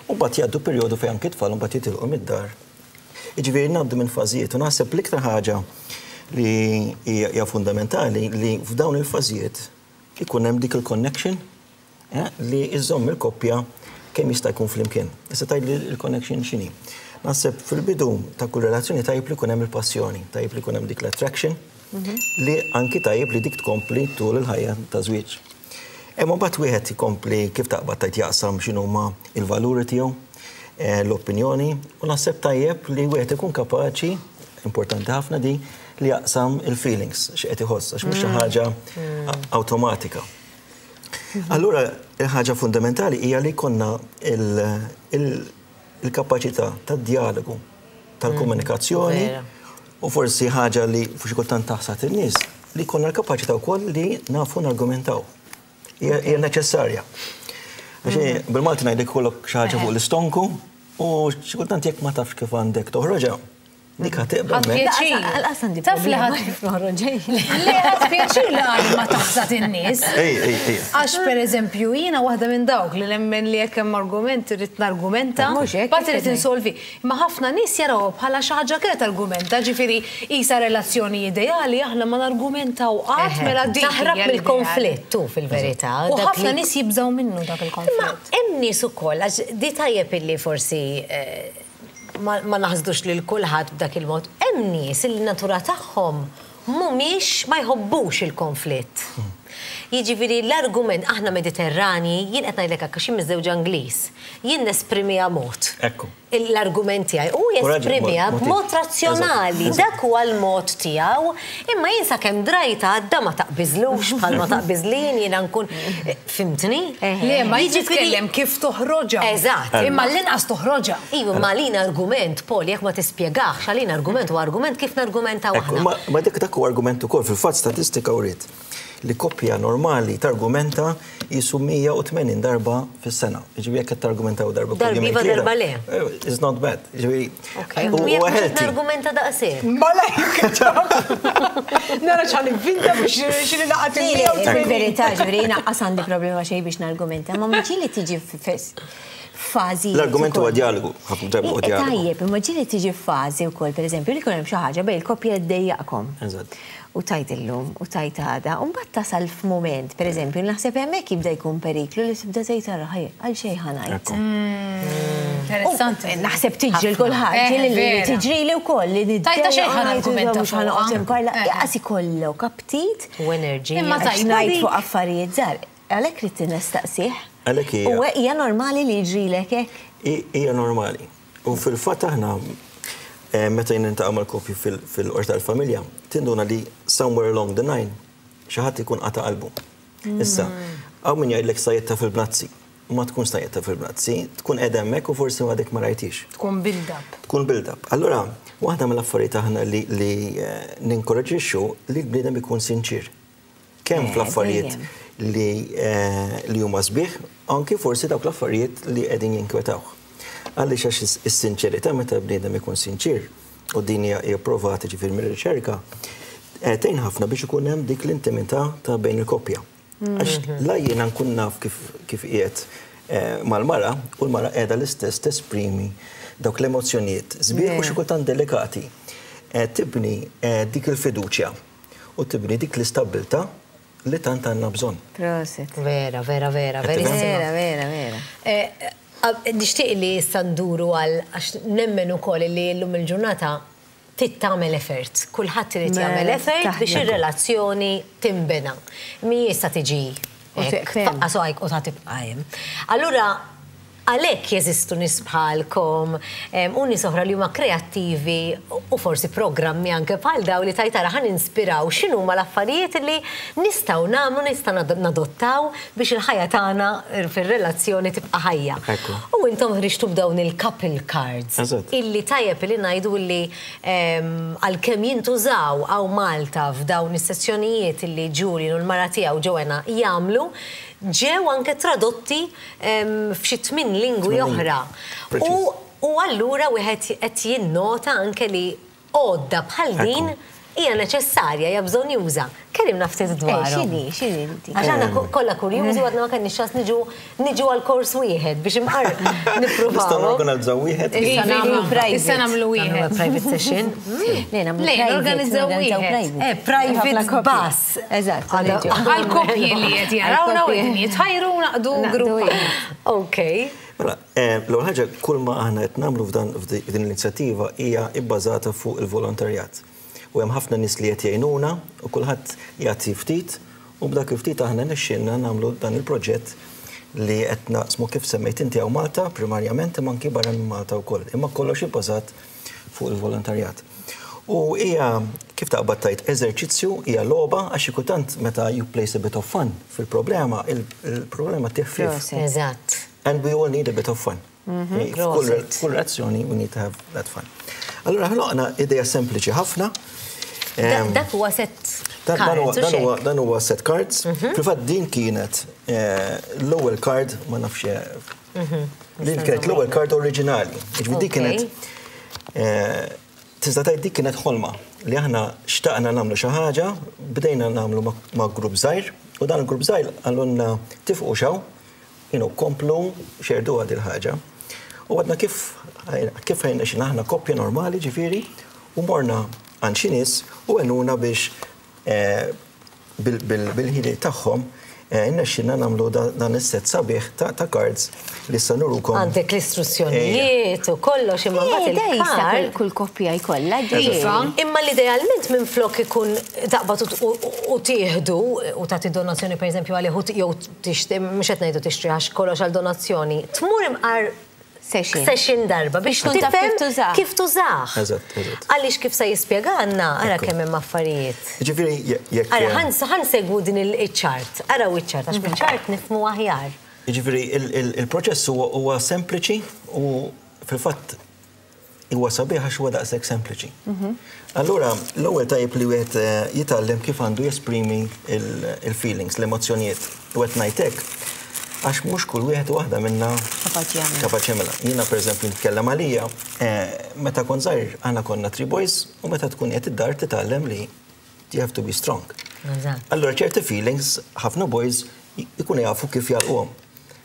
u mbagħad jgħaddu perjodu fejn anki t-tfal mbagħad jitilqu mid-dar. Jiġifieri ngħaddu minn fażijiet u naħseb l-iktar ħaġa li hija hija fundamentali li f'dawn il-fażijiet ikun hemm dik il-connection eh, li iżomm il-koppja kemm jista' jkun flimkien. Issa tgħid li l-connection x'inhi. Naħseb fil-bidu ta' kull relazzjoni tajjeb li jkun hemm il-passjoni, tajjeb li jkun hemm dik l-attraction, li anki tajjeb li dik tkompli tul il-ħajja ta' żwieġ. Imma mbagħad wieħed ikompli kif taqbad tajt jaqsam x'inhuma il-valuri tiegħu, eh, l-opinjoni, u naħseb tajjeb li wieħed ikun kapaċi, importanti ħafna di, li jaqsam il-feelings x'qed iħoss, għax mhux xi ħaġa awtomatika. Allura, il-ħaġa fundamentali hija li jkollna il-kapaċità tad-dialogu, tal-komunikazzjoni, Vera. u forsi ħaġa li xi kultant taħsad in-nies, li jkollna l-kapaċità wkoll li nafu nargumentaw. Hija hija neċessarja. Għax bil-Malti ngħidlek kollok xi ħaġa fuq l-istonku u xi kultant jekk ma tafx kif għandek toħroġha, dik ħa tibqa' Ħadd hemmhekk. pjaċir. Għal-qas għandi Taf li problema ħadd kif noħroġ. Li ħadd pjaċir li għal ma taħsad in-nies. Ej, ej, ej. Għax per eżempju, jiena waħda minn dawk li nemmen li jekk hemm argument irrid nargumenta, Mhux hekk, mbagħad irid hekk insolvi. Imma ħafna nies jaraw bħala xi ħaġa kienet argumenta, ġifieri isa relazzjoni ideali aħna ma nargumentaw qatt mela dik. Taħrab hija l-ideali. mill-konflitt tu fil-verità. U dak ħafna li- nies jibżgħu minnu dak Imma il-konflitt. hemm nies ukoll, għax di tajjeb illi forsi eh, ma ma naħsdux lil kulħadd b'dak il-mod. Hemm nies li natura tagħhom mhumiex ma jħobbux il-konflitt. Jiġifieri l-argument aħna Mediterrani, jien qed ngħidlek hekk għax jien miżżewġa Ingliż, jien nesprimiha mod. Ekku. L-argument tiegħi u jesprimiha mod- b'mod razzjonali, Eżatt. dak huwa l-mod tiegħu, imma jien sakemm drajta għadda ma taqbiżlux bħal ma taqbiżlin jiena nkun fhimtni? Le, ma Jiġifieri- jitkellem kif toħroġha. Eżatt. Imma l-inqas toħroġha. Iva, ma għalina argument, Paul, jekk ma tispjegax, għalina argument u argument kif nargumentaw Ekku, aħna. ma, ma dik dak huwa argument ukoll fil-fatt statistika uriet li koppja normali targumenta jisu mija u tmenin darba fis-sena. Jiġifieri jekk qed targumentaw darba kull Darba jumejn iva, tlieta, darba le. eh, It's not bad. Jiġifieri Ok, u u jekk huwa mhux qed healthy. nargumenta daqshekk. Mala Nara ċan vinta biex xini laqat Fil-verità, ġifieri, jiena qas għandi problema xejn biex nargumenta, ma ġieli tiġi fażi. L-argument huwa dialogu, ħafna drabi huwa dialogu. Tajjeb, imma ġieli tiġi fażi wkoll, pereżempju, li jkun hemm xi ħaġa bejn il-koppja ddejjaqkom. Eżatt. U tajt illum, u tajt għada, u mbagħad tasal f'mument, pereżempju, naħseb hemmhekk jibda jkun periklu li tibda tgħid ara ħaj, għal xejn ħa ngħid. Ekku. Interessanti. Naħseb tiġri l-kulħadd, Eh, ġieli li vera. tiġri li wkoll li Tajta xejn ħa nargumenta mhux ħa noqgħod fuqha. imparla, Eh. jaqas ikollok aptit U enerġija. Imma għax tajba ngħid dik. fuq affarijiet żgħar. Għalhekk rid nistaqsih. Għalhekk hija- U hija normali li jiġrilek hekk? I- Hija normali. U fil-fatt aħna eh, meta jien niltaqa' mal-koppji fil-qorti tal-familja, tinduna li somewhere along the line xi ħadd ikun qata' qalbu. Issa, hawn min jgħidlek sajjetta fil-bnazzi. Ma tkun sajjetta fil-bnazzi, tkun qiegħda hemmhekk u forsi għadek ma rajtix. Tkun build-up. Tkun build-up. Allura, waħda mill-affarijiet aħna li, li eh, ninkoraġixxu li l-bniedem ikun sinċir. Kemm Eh, fl-affarijiet dejjem. li, eh, li huma sbieħ, anki forsi dawk l-affarijiet li qegħdin jinkwetawh. Għaliex għax is-sinċerità meta bniedem ikun sinċir, u din hija hija provata ġifieri mir-riċerka, eh, tgħin ħafna biex ikun hemm dik l-intimità ta' bejn il-koppja. Għax la jiena nkun naf kif kif qiegħed eh, mal-mara u l-mara qiegħda l-istess tesprimi dawk l-emozzjonijiet sbieħ u xi kultant delikati. Eh, Tibni eh, dik il-fiduċja u tibni dik l-istabbiltà li tant għandna bżonn. Prosit. Vera, vera, vera, verissima. Vera, vera, vera. Eh, eh, Nixtieq li issa nduru għal għax nemmen ukoll li llum il-ġurnata trid tagħmel effort. Kulħadd irid Mela, jagħmel effort biex taħdem. ir-relazzjoni timbena. Mi issa tiġi U hekk, teqfem. tfaqqa saqajk u ta' tibqa' hemm. Allura għalhekk jeżistu nies bħalkom em, u nies oħra li huma kreattivi u forsi programmi anke bħal daw li tajtara ħa ninspiraw x'inhuma l-affarijiet li nistgħu nagħmlu, nistgħu nad- nadottaw biex il-ħajja tagħna fir-relazzjoni tibqa' ħajja. Ekku. U intom ħriġtu b'dawn il-couple cards. Eżatt. Illi tajjeb li ngħidu illi em, għalkemm jintużaw hawn Malta f'dawn is-sessjonijiet illi Julian u l-mara tiegħu Joanna jagħmlu, ġew anke tradotti em, f'xi tmien lingwi Tmien lingwi. oħra. Preċiż. U u allura wieħed qed jinnota anke li għodda bħal din hija neċessarja, hija bżonn juża. Kellimna ftit Eh, dwarhom. x'inhi, x'inhi inti? Għax aħna ko- kollha kurjużi u għadna ma kenniex ċans niġu niġu għal kors wieħed biex imqar Nistgħu nippruvaw. norganizzaw wieħed. Issa nagħmlu private. Issa nagħmlu Nagħmlu wieħed. private session. Le, nagħmlu Le, private, norganizzaw norganizzaw wieħed. private. Eh, private Ħafna kopji. bus. Eżatt. Għada- niġu. Għal koppji li qed jarawna u Għal-koppji. qegħdin jitħajru naqdu Naqdu grupp. wieħed. Ok. Mela, eh, l-ewwel ħaġa kull ma aħna qed nagħmlu f'dan f'din l-inizjattiva hija bbażata fuq il-volontarjat. U hemm ħafna nies li qed jgħinuna u kulħadd jagħti ftit u b'dak il-ftit aħna nexxielna nagħmlu dan il-proġett li qed naqsmu kif semmejt inti hawn Malta primarjament imma anki barra minn Malta wkoll. Imma kollox ibbażat fuq il-volontarjat. U hija kif taqbad tajt eżerċizzju hija logħba għax xi kultant meta you place a bit of fun fil-problema, il-problema tiħfif. Proset. Eżatt. And we all need a bit of fun. F'kull Proset. kull relazzjoni we need to have that fun. Allora ħloqna idea sempliċi ħafna. Da- Em, Dak huwa set Dan dan huwa- cards u dan huwa- xek. dan huwa set cards. Fil-fatt din kienet eh, l-ewwel card, ma nafx eh, din kienet l-ewwel card oriġinali. Jiġifieri dik Ok. kienet eh, tista' tgħid dik kienet ħolma li aħna xtaqna nagħmlu xi ħaġa, bdejna nagħmlu ma- ma' grupp żgħir u dan il-grupp żgħir qalulna tifqu xaw, you know, komplu xerdu għad il-ħaġa. U għadna kif kif ħajna xi aħna koppja normali ġifieri u morna għand xi nies u għenuna biex eh, bil- bil- bil-ħiliet tagħhom eh, innexxilna nagħmlu da- dan is-set sabiħ ta' ta' cards li issa nurukom. Għandek l-istruzzjonijiet u kollox imma Eh, mbagħad da jista' il-card. kull- kull koppja jkollha Iva. Imma l-idealment minn flok ikun taqbad u- u- u tieħdu u tagħti donazzjoni pereżempju għalih u t- jew tixtri mhux qed ngħidu tixtri għax kollox għal donazzjoni, tmur imqar Session. session darba biex tkun taf tifhem kif tużah. Kif tużah. Eżatt, eżatt. Għaliex kif se jispjegana, ara Ekku. kemm hemm affarijiet. Ġifieri je- jekk Ara, ħa ħa nsegwu din il-chart, araw il-chart, għax bil-chart nifhmu aħjar. Ġifieri il- il- il-proċess huwa huwa sempliċi u fil-fatt huwa sabiħ għax huwa daqshekk sempliċi. Allura, l-ewwel tajjeb li wieħed eh, jitgħallem kif għandu jesprimi il- il-feelings, l-emozzjonijiet. U qed ngħid hekk għax mhux kull wieħed u waħda minna Kapaċi jagħmel. kapaċi jagħmilha. Jiena pereżempju nitkellem għalija, eh, meta kont żgħir aħna konna three boys u meta tkun qed id-dar titgħallem li you have to be strong. Eżatt. Allora ċerti feelings ħafna boys ikunu jafu kif jalquhom.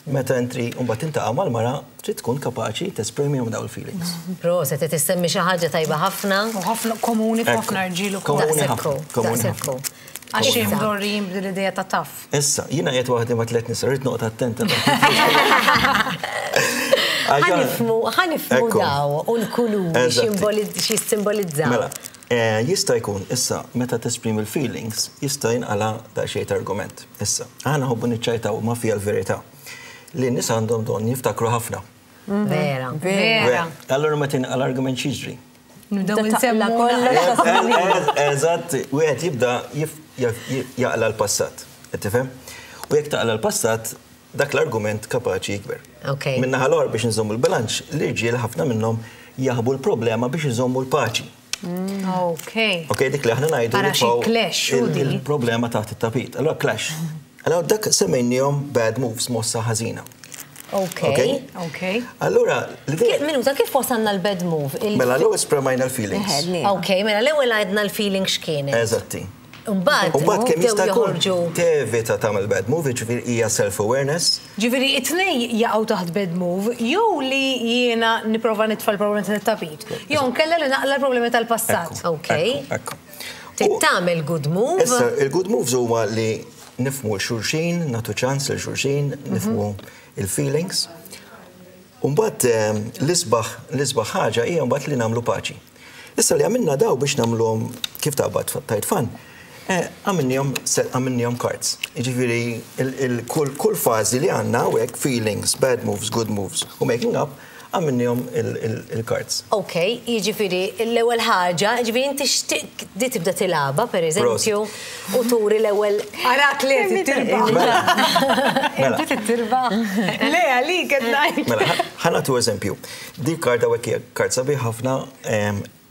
Meta entri mbagħad tintaqa' mal-mara trid tkun kapaċi tesprimihom dawn il-feelings. Proset, qed issemmi xi ħaġa tajba ħafna. U ħafna komuni f'ħafna rġiel ukoll. Komuni Daqshekk hu, ħafna, komuni daqshekk hu. ħafna. Għax Issa. imdorrijin b'din l-idea ta' taf. Issa, jiena qiegħed waħdi ma' tliet nisa, rrid noqgħod attenta. Ħa nifhmu, ħa nifhmu Ekku. daw u l-kuluri Eżatt. xi simbolizzaw. Mela, eh, jista' jkun issa meta tesprimi l-feelings, jista' jinqala daqsxejn ta' argument. Issa, aħna ħobbu niċċajtaw ma fija l-verità. Li n-nies għandhom don jiftakru ħafna. Vera. Vera. Allura meta jinqala argument x'jiġri? Nibdew Taqla nsemmu kollox. Eżatt, wieħed jibda jif- jaf- jaqla l-passat. Qed tifhem? U jekk taqla l-passat, dak l-argument kapaċi jikber. Ok. Minnaħa l biex nżommu l-bilanċ, l-irġiel ħafna minnhom jaħbu l-problema biex iżommu l-paċi. Ok. Ok, dik li aħna ngħidu Ara xi nitfgħu clash, u il- di. il-problema taħt it-tapit. Allora clash. Allora dak semmejnihom bad moves, mossa ħażina. Ok. Ok. Allura, l-idea. Minuta, kif wasalna l-bad move? Mela, l-ewwel esprimajna l-feelings. Ok, mela l-ewwel għedna l-feeling x'kienet. Eżatti. Mbagħad, Mbagħad kemm jista' jkun joħorġu. tevita tagħmel bad move, ġifieri hija self-awareness. Ġifieri, it-tnej jaqgħu taħt bad move, jew li jiena nipprova nitfa' l-problemi tat-tapit, jew nkella li naqla l-problemi tal-passat. Ok. Ekku. Tagħmel good move. Issa, il-good moves huma li nifhmu xulxin, nagħtu ċans lil xulxin, nifhmu il-feelings. Umbagħad l-isbaħ l-isbaħ ħaġa hija mbagħad li nagħmlu paċi. Issa li għamilna daw biex nagħmluhom kif taqbad tajt fan, għamilnihom għamilnihom cards. Jiġifieri kull kull fażi li għandna hawnhekk feelings, bad moves, good moves u making up, għamilnihom il-cards. Ok, jiġifieri l-ewwel ħaġa, jiġifieri inti xtiq di tibda tilgħabha, per eżempju, u turi l-ewwel. Arak li tirbaħ. Mela. Inti tirbaħ. Le, għalik qed ngħid. Mela, ħa nagħtu eżempju. Di karta hawnhekk hija kart sabiħ ħafna,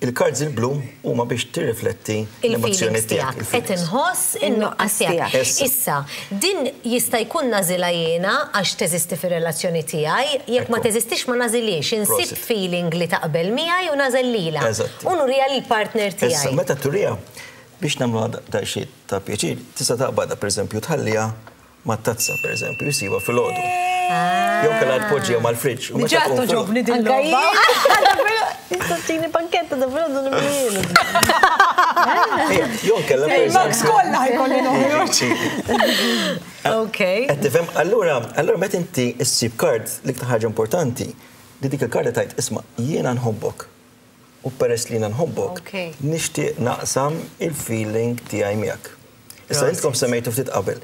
il-cards il-blu huma biex tirrifletti l-emozzjoni il-feelings tiegħek. tiegħek. Qed inħoss in-nuqqas tiegħek. Issa. Issa, din jista' jkun nagħżilha jiena għax teżisti fir-relazzjoni tiegħi, jekk ma Ekku. teżistix ma nagħżilhiex, insib Prosit. feeling li taqbel miegħi u nagħżel lilha. Eżatti. U nurija lill-partner Issa, tiegħi. meta turija, biex nagħmlu da xi ta' pjaċir, tista' taqbadha pereżempju tħallija mat-tazza pereżempju jsiba filgħodu. Jew kellha tpoġġiha mal-friġġ. u meta Diġà tqum filgħodu- togħġobni din l-logħba. Tistaqsini panketta da filgħodu nimlielu. Ejja, Jew kellha Il-Max pereżempju. kollha ħajkolli noħroġ. Ok. Qed tifhem, allura, allura meta inti issib card l-iktar ħaġa importanti li dik il-karta tajt isma' jiena nħobbok. U peress li jiena nħobbok, Ok. nixtieq naqsam il-feeling tiegħi miegħek. Issa intkom semmejtu ftit qabel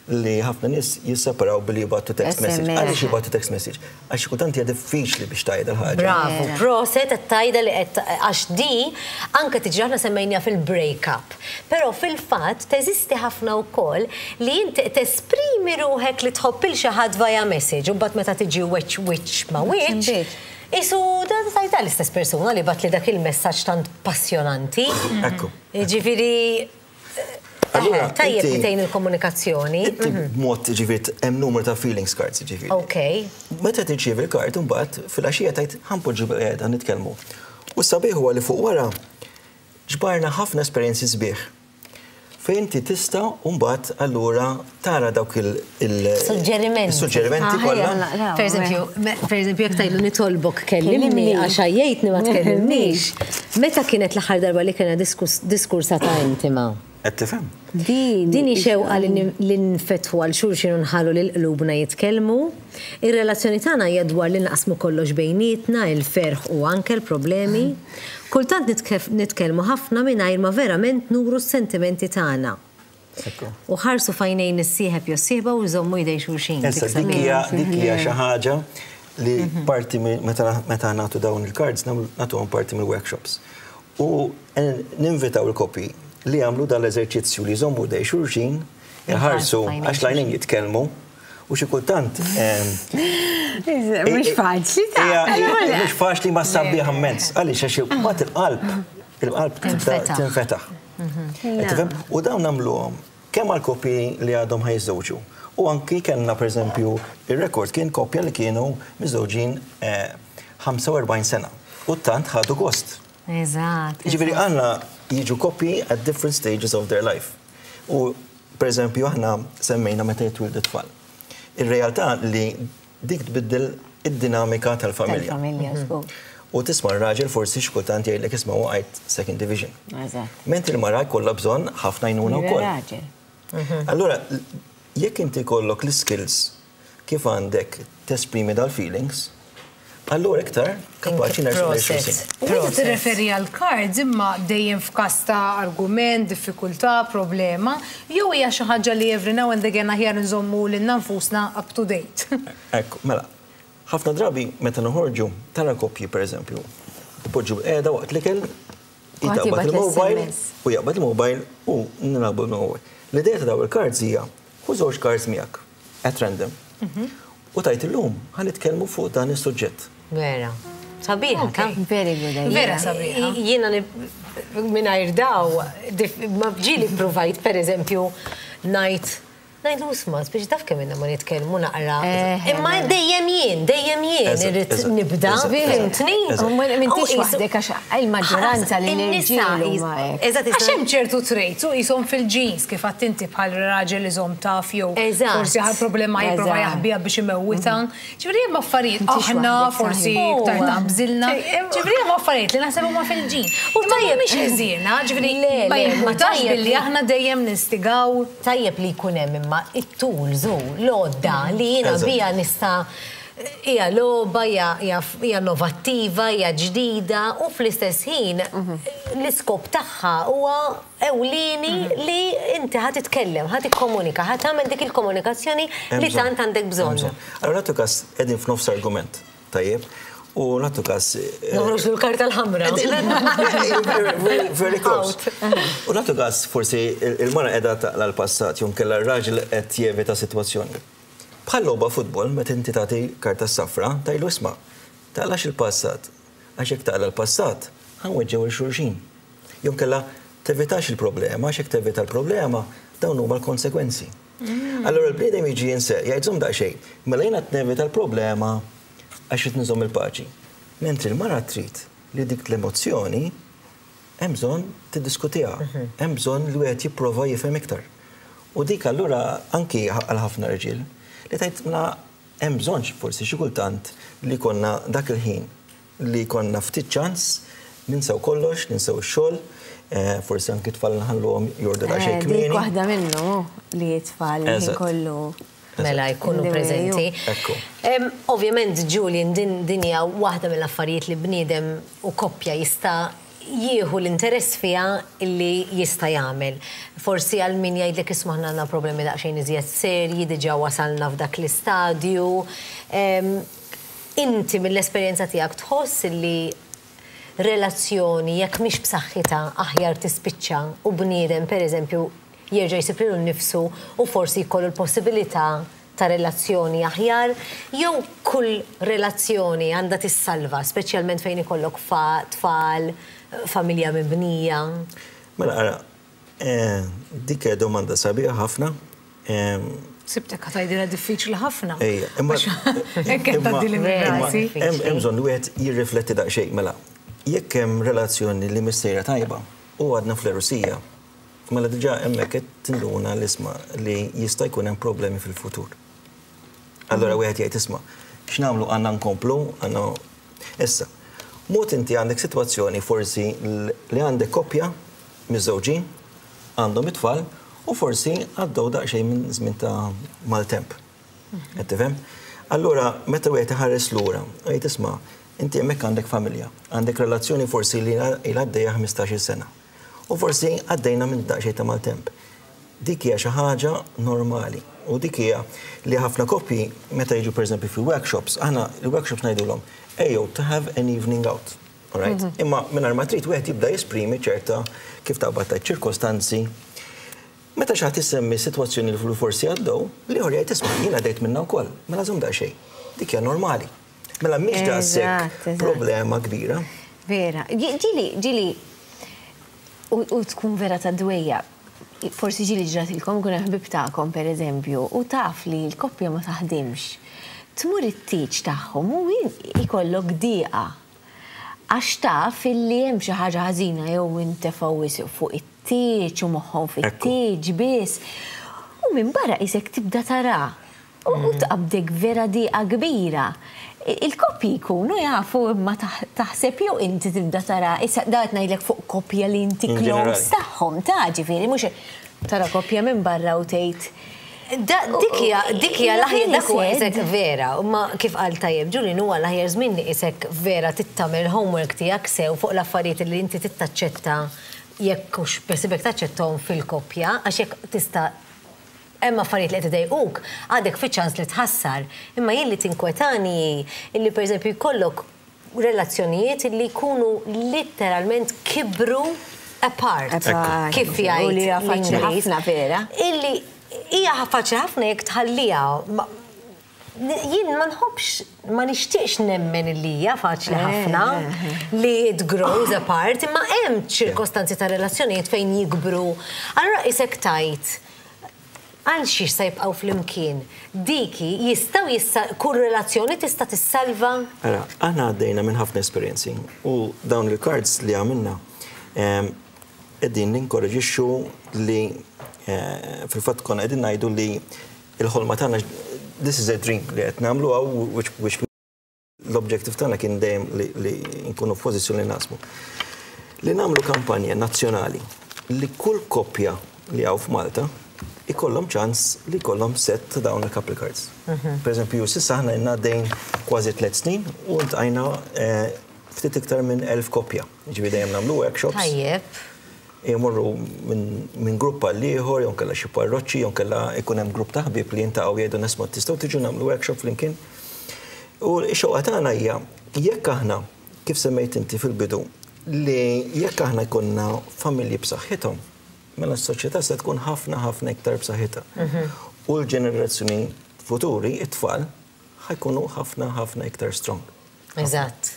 li ħafna nies jisseparaw billi jibgħatu text message. S M S. Għaliex jibgħatu text message? Għax kultant hija diffiċli biex tgħid il-ħaġa. Bravo, proset qed tajda li qed għax di anke tiġi aħna semmejna fil-break-up. Però fil-fatt teżisti ħafna wkoll li inti tesprimi ruħek li tħobb il xi ħadd via message u mbagħad meta tiġi wiċċ wiċċ ma wiċċ. Isu da tajta l-istess persuna li bagħatli dak il-messaġġ tant passjonanti. Ekku. Ġifieri Allura, tajjeb inti- li tgħin il-komunikazzjoni. Inti b'mod ġifieri hemm numru ta' feelings cards ġifieri. Ok. Meta tirċievi l-kart imbagħad fil-għaxija tajt ħa npoġġu bil-qiegħda nitkellmu. U sabiħ huwa li fuq wara ġbarna ħafna esperjenzi sbieħ. Fejn inti tista' mbagħad allura tara dawk il- il- Suġġerimenti. il-suġġerimenti Ah, ħajja, kollha. naqraw, Per eżempju, me- per eżempju, jekk tajlu nitolbok kellimni Kellimni. għax għajjejtni ma tkellimnix. Meta kienet l-aħħar darba li kena diskus- diskursata intima? Qed tifhem? Din. Din hi xewqa li nin- li nfetħu għal xulxin u nħallu lil qlubna jitkellmu. Ir-relazzjoni tagħna hija dwar li naqsmu kollox bejnietna, il-ferħ u anke l-problemi. Kultant nitkef- nitkellmu ħafna mingħajr ma verament nuru s-sentimenti tagħna. Ekku. U ħarsu f'għajnejn is-sieħeb jew sieħba u jżommu jdej xulxin. Issa Dik dik sabiħa. hija dik hija xi ħaġa li parti minn- meta meta nagħtu dawn il-cards nagħmlu- nagħtuhom parti mill-workshops. U eh, ninvitaw il-koppji li jagħmlu dan l-eżerċizzju li jżommu jdej xulxin, jħarsu f'għajnejn għax l-għajnejn jitkellmu u xi kultant ehm, Mhux faċli ta' Hija- hija- Mhux faċli ma sabiħ immens. Għaliex għax mbagħad il-qalb, il-qalb tibda Tinfetaħ. tinfetaħ. Qed tifhem? U dawn nagħmluhom kemm għal koppji li għadhom ħa jiżżewġu. U anki kellna pereżempju ir-rekord kien koppja li kienu miżżewġin eh, ħamsa u erbgħin sena. U tant ħadu gost. Eżatt. Ġifieri għandna jiġu koppji at different stages of their life. U per eżempju aħna semmejna meta jitwildu tfal. Ir-realtà li dik tbiddel id-dinamika tal-familja. Tal-familja, żgur. U tisma' r-raġel forsi xi kultant jgħidlek isma' waqajt second division. Eżatt. Mentri l-mara jkollha bżonn ħafna għajnuna wkoll. Raġel. Allura, jekk inti kollok l-skills kif għandek tesprimi dal-feelings, allura iktar kapaċi nersu Proset. xulxin. U inti tirreferi għal cards imma dejjem f'każ ta' argument, diffikultà, problema, jew hija xi ħaġa li every now and again aħjar nżommu lilna nfusna up to date. Ekku, mela, ħafna drabi meta noħorġu tara koppji per eżempju, ipoġġu qiegħda waqt l-ikel, jitaqbad jibgħat il-mobile l-S M S. u jaqbad il-mobile u nilagħbu il-mobile. L-idea ta' daw il-cards hija ħu żewġ cards miegħek at random. U tajt illum ħa nitkellmu fuq dan is-suġġett. Vera. Sabiħa, ta' Very good idea. Vera sabiħa. Jiena mingħajr daw, dif- ma ġieli provajt, per eżempju, ngħid Ngħidlu isma' biex taf kemm ilna ma nitkellmu naqra. Eh, Imma dejjem jien, dejjem jien Eżatt, irrid eżatt, nibda, eżatt, fhimtni? eżatt. U m'intix U qisu- waħdek għax il-maġġoranza li In-nisa l-irġiel qis- huma hekk. Eżatt, Għax hemm ċertu traits u qishom fil-genes kif għedt inti bħal raġel iżomm taf jew Eżatt. forsi ħal problema jipprova Eżatt. jaħbiha biex imewwitha. Ġifieri hemm affarijiet M'intix aħna waħdek, forsi saħi. iktar Huwa. taqbżilna. Ġifieri hemm affarijiet li naħseb huma fil-ġin. U tajjeb- tajjeb mhix ħżiena, ġifieri Le, ma le, ma jimpurtax tajjeb billi li- aħna dejjem nistigaw. Tajjeb li jkun hemm imma it-tools u l-għodda li jiena Eżatt. bija nista' hija logħba, hija hija hija innovattiva, hija ġdida u fl-istess ħin l-iskop tagħha huwa ewlieni li inti ħa titkellem, ħa tikkomunika, ħa tagħmel dik il-komunikazzjoni Hemm li bżonn. tant għandek Hemm bżonn. bżonn. Allora nagħtu każ qegħdin f'nofs argument, tajjeb? U nagħtu każ eh, Noħroġ l-karta l-ħamra. very, very close. U nagħtu każ forsi il-mara qiegħda taqla l-passat, jew inkella r-raġel qed jevita sitwazzjoni. Bħal logħba futbol, meta inti tagħti karta safra, tgħidlu isma' taqlax il-passat. Għax jekk taqla l-passat, ħa nweġġgħu 'l xulxin. Jew inkella tevitax il-problema, għax jekk tevita l-problema, dawn huma l-konsekwenzi. Allora l-bniedem jiġi jinse, jgħid żomm daqsxejn, mela jiena nevita l-problema għax qed nżomm il-paċi. Mentri l-mara trid li dik l-emozzjoni hemm bżonn tiddiskutiha, hemm bżonn li wieħed jipprova jifhem iktar. U dik allura anki għal ħafna rġiel li tgħid mela hemm bżonn forsi xi kultant li konna dak il-ħin li konna ftit ċans ninsew kollox, ninsew ix-xogħol, eh, forsi anki tfal nħalluhom jorqdu daqsxejn Eh, Dik kmieni. waħda minnu li tfal li Eżatt. kollu. Mela jkunu In the way, preżenti. Ekku. Em, Ovvjament, Julian, din din hija waħda mill-affarijiet li bniedem u koppja jista' jieħu l-interess fiha illi jista' jagħmel. Forsi għal min jgħidlek isma' aħna għandna problemi daqsxejn iżjed serji, diġà wasalna f'dak l-istadju. Em, Inti mill-esperjenza tiegħek tħoss illi relazzjoni jekk mhix b'saħħitha aħjar tispiċċa u bniedem pereżempju jerġa' jsib lilu nnifsu u forsi jkollu l-possibilità ta' relazzjoni aħjar, jew kull relazzjoni għandha tissalva, speċjalment fejn ikollok fa tfal, familja mibnija. Mela, ara, eh, dik hija domanda sabiħa ħafna. Em, Sibtek ħa tgħidilha diffiċli ħafna. Ejja, imma Hekk qed tgħaddili minn imma rasi. hemm hemm bżonn li wieħed jirrifletti daqsxejn mela. Jekk hemm relazzjoni li mhix sejra tajba u għadna fl-għerusija, mela diġà hemmhekk qed tinduna l-isma li jista' jkun hemm problemi fil-futur. Allora wieħed jgħid isma' x'nagħmlu għandna nkomplu, għandna Issa, mod inti għandek sitwazzjoni forsi li għandek koppja miżżewġin, għandhom it-tfal u forsi għaddew daqsxejn minn żmien ta' maltemp. Qed tifhem? Allura, meta wieħed iħares lura, jgħid isma' inti hemmhekk għandek familja, għandek relazzjoni forsi li ilha għaddejja ħmistax-il sena. U forsi għaddejna minn daqsxejn ta' maltemp. Dik hija xi ħaġa normali. U dik hija li ħafna koppji meta jiġu pereżempju fi workshops, aħna il-workshops ngħidulhom ejjew to have an evening out. All right? Imma mingħajr ma trid wieħed jibda jesprimi ċerta kif taqbad ta' ċirkostanzi. Meta xi ħadd isemmi sitwazzjoni li forsi għaddew, l-ieħor jgħid isma' jien għaddejt minnha wkoll, mela żomm daqsxejn. Dik hija normali. Mela mhix daqshekk Eżatt, eżatt. problema kbira. Vera. Ġieli, ġieli, u u tkun vera ta' dwejja. Forsi ġieli ġratilkom kun ħbib tagħkom per eżempju, u taf li l-koppja ma taħdimx. Tmur it-tieġ tagħhom u ikollok diqa. Għax taf illi hemm xi ħaġa ħażina jew intefgħu wisq fuq it-tieġ u moħħhom fit-tieġ biss. U minn barra isek tibda tara. U u tqabdek vera diqa kbira. Il-koppji jkunu jafu imma taħ- taħseb jew inti tibda tara, issa da qed ngħidlek fuq koppja li inti In close ġenerali. tagħhom ta' ġifieri mhux tara koppja minn barra u tgħid Da, dik hija dik hija l-aħjar dak huwa Really isek sad. vera, ma kif qal tajjeb Julian huwa l-aħjar żmien li isek vera tagħmel homework tiegħek sew fuq l-affarijiet li inti tittaċċetta jekk hux besibek taċċettahom fil-koppja, għax jekk tista' hemm affarijiet li qed idejquk, għadek fi ċans li tħassar. Imma jien li tinkwetani illi pereżempju jkollok relazzjonijiet li jkunu letteralment kibru apart. Apart. Kif U li jgħid hija faċli l-Ingliż. ħafna vera. Illi hija faċli ħafna jekk tħalliha. Ma- Jien ma nħobbx, ma nixtieqx nemmen illi hija faċli Eh, ħafna li it grows apart, imma hemm ċirkostanzi ta' relazzjonijiet fejn jikbru. Allura isek tajt. Għal xiex se jibqgħu flimkien? Diki jistgħu jissa kull relazzjoni tista' tissalva? Ara, aħna għaddejna minn ħafna esperjenzi u dawn il-cards li għamilna qegħdin ninkoraġixxu li eh, fil-fatt konna qegħdin ngħidu li il-ħolma tagħna, this is a dream li qed nagħmlu hawn, which, which l-objective tagħna kien dejjem li, li nkunu f'pożizzjoni li naqsmu. Li nagħmlu kampanja nazzjonali li kull koppja li hawn f'Malta ikollhom ċans li jkollhom set ta' dawn il-couple cards. Per eżempju, s'issa aħna ilna għaddejn kważi tliet snin u ltqajna eh, ftit iktar minn elf koppja. Ġifieri dejjem nagħmlu workshops. Tajjeb. Jmorru minn min grupp għal ieħor, jew kellha xi parroċċi, jew kellha ikun hemm grupp ta' ħbieb li jintaqgħu jgħidu nisma' tistgħu tiġu nagħmlu workshop flimkien. U x-xewqa tagħna hija jekk aħna, kif semmejt inti fil-bidu, li jekk aħna jkollna familji b'saħħithom, mela s-soċjetà se tkun ħafna ħafna iktar b'saħħitha. U l-ġenerazzjoni futuri, it-tfal, ħa jkunu ħafna ħafna iktar strong. Eżatt.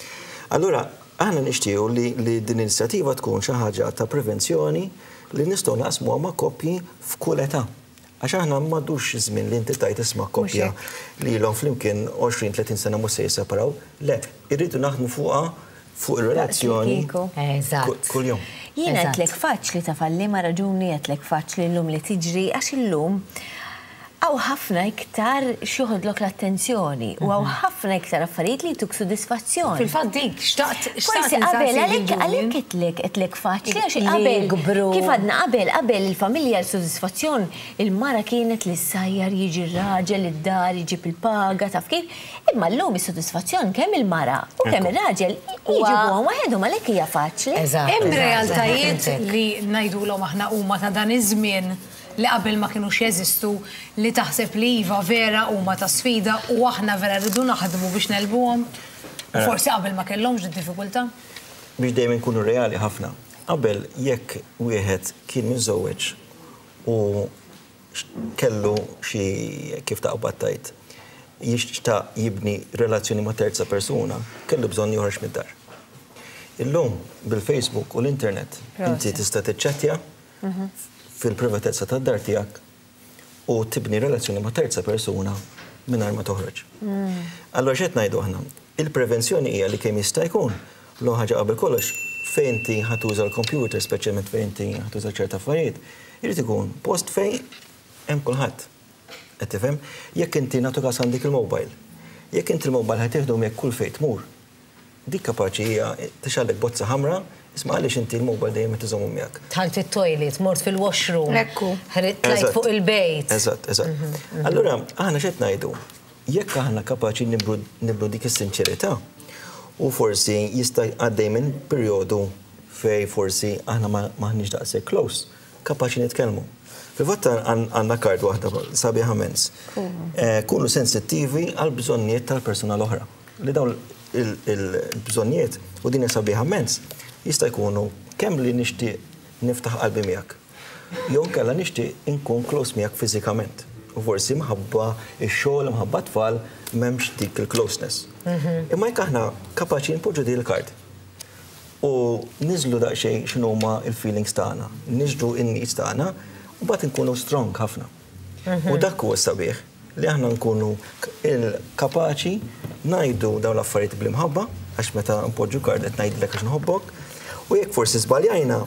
Allura, aħna nixtiequ li, li din l-inizjattiva tkun xi ħaġa ta' prevenzjoni li nistgħu naqsmuha ma' koppji f'kull età. Għax aħna m'għadux żmien li inti tajt isma' koppja li ilhom flimkien għoxrin tletin sena mhux se jisseparaw. Le, irridu naħdmu fuqha, fuq ir-relazzjoni kieku. Eżatt. kull jum. Jiena Eżatt. għedtlek faċli ta' falli ma raġuni għedtlek faċli llum li tiġri, għax illum hawn ħafna iktar x'joħodlok l-attenzjoni u hawn ħafna iktar affarijiet li jtuk sodisfazzjon. Fil-fatt dik, xtaqt Forsi qabel, għalhekk għalhekk għedtlek għedtlek faċli, għax Li qabel, jikbru. kif għadna qabel, qabel il-familja l-sodisfazzjon, il-mara kienet li ssajjar, jiġi r-raġel id-dar, jġib il-paga, taf kif. Imma llum is-sodisfazzjon kemm il-mara u kemm ir-raġel jġibuhom waħedhom, għalhekk hija faċli. Eżatt. Hemm eżatt, realtajiet eżatt. li ngħidulhom aħna huma ta' dan iż-żmien li qabel ma kinux jeżistu, li taħseb li iva vera huma ta' sfida u aħna vera rridu naħdmu biex negħlbuhom? U forsi qabel ma kellhomx diffikultà? Biex dejjem nkunu reali ħafna. Qabel jekk wieħed kien miżżewweġ u kellu xi, kif taqbad tajt, jixtaq jibni relazzjoni ma' terza persuna, kellu bżonn joħroġ mid-dar. Illum bil-Facebook u l-internet inti tista' tiċċettja fil-privatezza tad-dar tiegħek u tibni relazzjoni ma' terza persuna mingħajr ma toħroġ. Allora x'qed ngħidu aħna? Il-prevenzjoni hija li kemm jista' jkun l ħaġa qabel kollox fejn inti ħa tuża l-computer, speċjalment fejn inti ħa tuża ċerta affarijiet, irid ikun post fejn hemm kulħadd. Qed tifhem? Jekk inti, nagħtu każ, għandek il-mobile, jekk inti il-mobile ħa tieħdu miegħek kull fejn tmur, dik kapaċi hija tixgħellek bozza ħamra, isma' għaliex inti l-mobile dejjem qed iżommu miegħek. Dħalt it-toilet, mort fil-washroom. Ekku. Tlajt Eżatt. fuq il-bejt. Eżatt, eżatt. Allura, aħna x'qed ngħidu? Jekk aħna kapaċi nibru nibru dik is-sinċerità u forsi jista' għaddej minn perjodu fej forsi aħna ma maħniex daqshekk close, kapaċi nitkellmu. Fil-fatt għandna card waħda sabiħa mens. Eh, Kunu sensittivi għal bżonnijiet tal-persuna l-oħra. Li dawn il-bżonnijiet, u din sabiħa mens, jista' jkunu kemm li nixtieq niftaħ qalbi miegħek, jew kella nixtieq inkun close miegħek fiżikament. U forsi mħabba ix-xogħol, mħabba tfal, m'hemmx dik il-closeness. Imma jekk aħna kapaċi npoġġu din il-card u niżlu daqsxejn x'inhuma il-feelings tagħna, niżlu in-needs tagħna, u mbagħad inkunu strong ħafna. U dak huwa sabiħ li aħna nkunu il-kapaċi ngħidu dawn l-affarijiet bl-imħabba, għax meta npoġġu card qed ngħidlek għax nħobbok, u jekk forsi żbaljajna,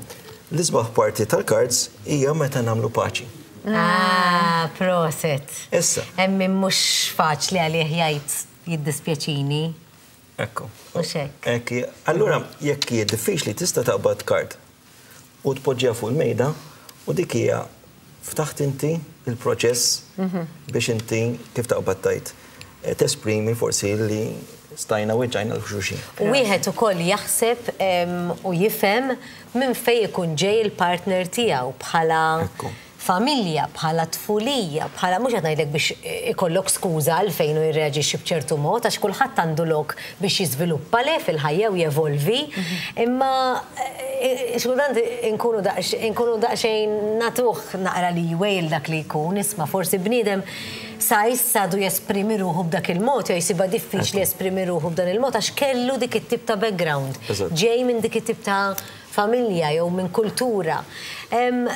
l-isbaħ parti tal-cards hija meta nagħmlu paċi. Ah, proset. Issa. Hemm min mhux faċli għalih jgħid jiddispjaċini. Ekku. U xek. Ekk, allura jekk hija diffiċli tista' taqbad card u tpoġġiha fuq il-mejda u dik hija ftaħt inti il-proċess biex inti, kif taqbad tajt, eh, tesprimi forsi li stajna weġġajna lil xulxin. U wieħed ukoll jaħseb em, u jifhem minn fejn ikun ġej il-partner tiegħu bħala Ekku. familja, bħala tfulija, bħala, mhux qed ngħidlek biex ikollok skuża għalfejn u jirreaġixxi b'ċertu mod, għax kulħadd għandu lok biex jiżviluppa le fil-ħajja u jevolvi, imma eh, xkultant inkunu daqs- inkunu daqsxejn natuh naqra li jwejl dak li jkun, isma' forsi bniedem sa issa du jesprimi ruħu b'dak il-mod, jew jsibha diffiċli jesprimi ruħu b'dan il-mod għax kellu dik it-tip ta' background. Eżatt. Ġej minn dik it-tip ta' familja jew minn kultura. Em,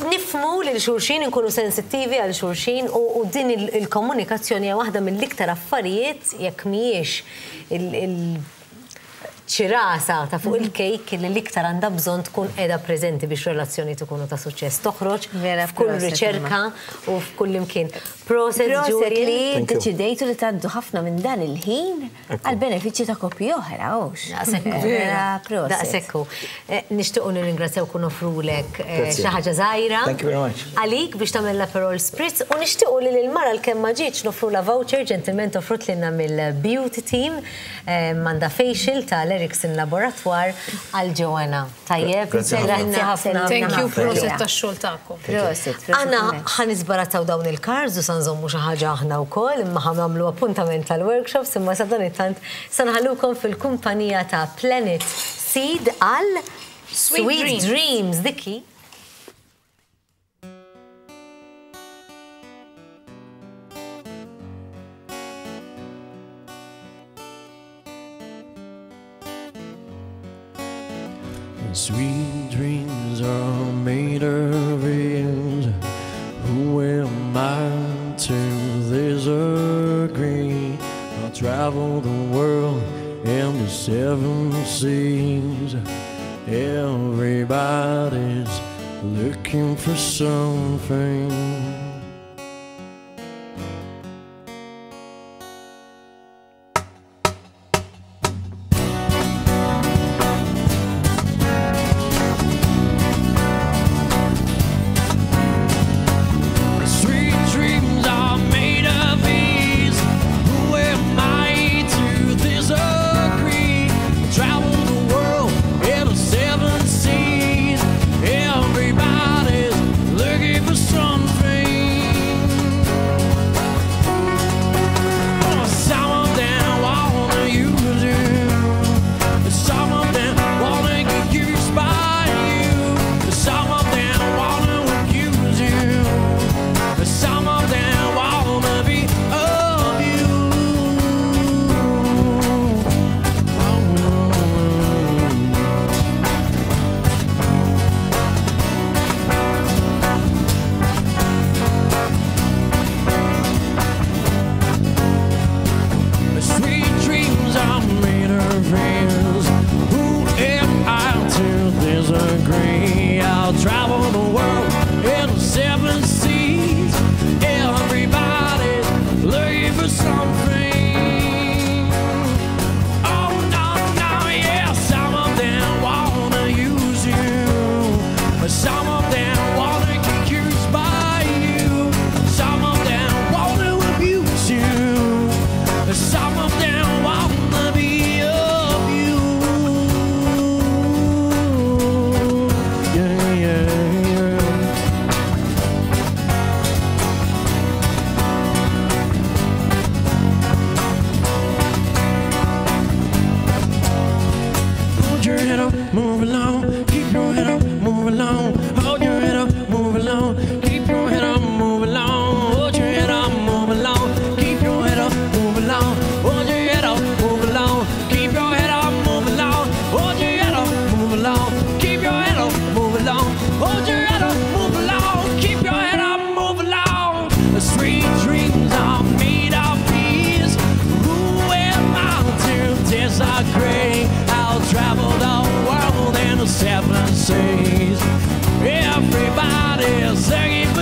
Nifhmu lil xulxin, nkunu sensittivi għal xulxin u din il-komunikazzjoni hija waħda mill-iktar affarijiet jekk mhijiex il-ċirasa ta' fuq il-kejk li l-iktar għandha bżonn tkun qiegħda preżenti biex relazzjoni tkunu ta' suċċess. Toħroġ f'kull riċerka u f'kull imkien. Proset, Proset li deċidejtu li tgħaddu ħafna minn dan il-ħin għal benefiċċju ta' koppji oħra, hux. Daqshekk. Daqshekk. Nixtiequ nirringrazzjaw kun offrulek xi ħaġa żgħira. Thank you very much. Għalik biex tagħmel l-Aperol Spritz u nixtiequ li lill-mara l-kemm ma ġietx noffrula voucher ġentilment offrut lilna mill-Beauty Team m'għandha facial tal-Erickson Laboratoire għal Joanna. Tajjeb, grazzi ħafna. Thank you, proset tax-xogħol tagħkom. Proset. Aħna ħa nisbarazzaw dawn il-cards u sa nżommu xi ħaġa aħna wkoll, imma ħa nagħmlu appuntament tal-workshops, imma sa dan it-tant sa nħallukom fil-kumpanija ta' Planet Seed għal Sweet Dreams. Dikki. Sweet dreams are made of ears. Who am I to disagree? I'll travel the world in the seven seas. Everybody's looking for something. Everybody's looking for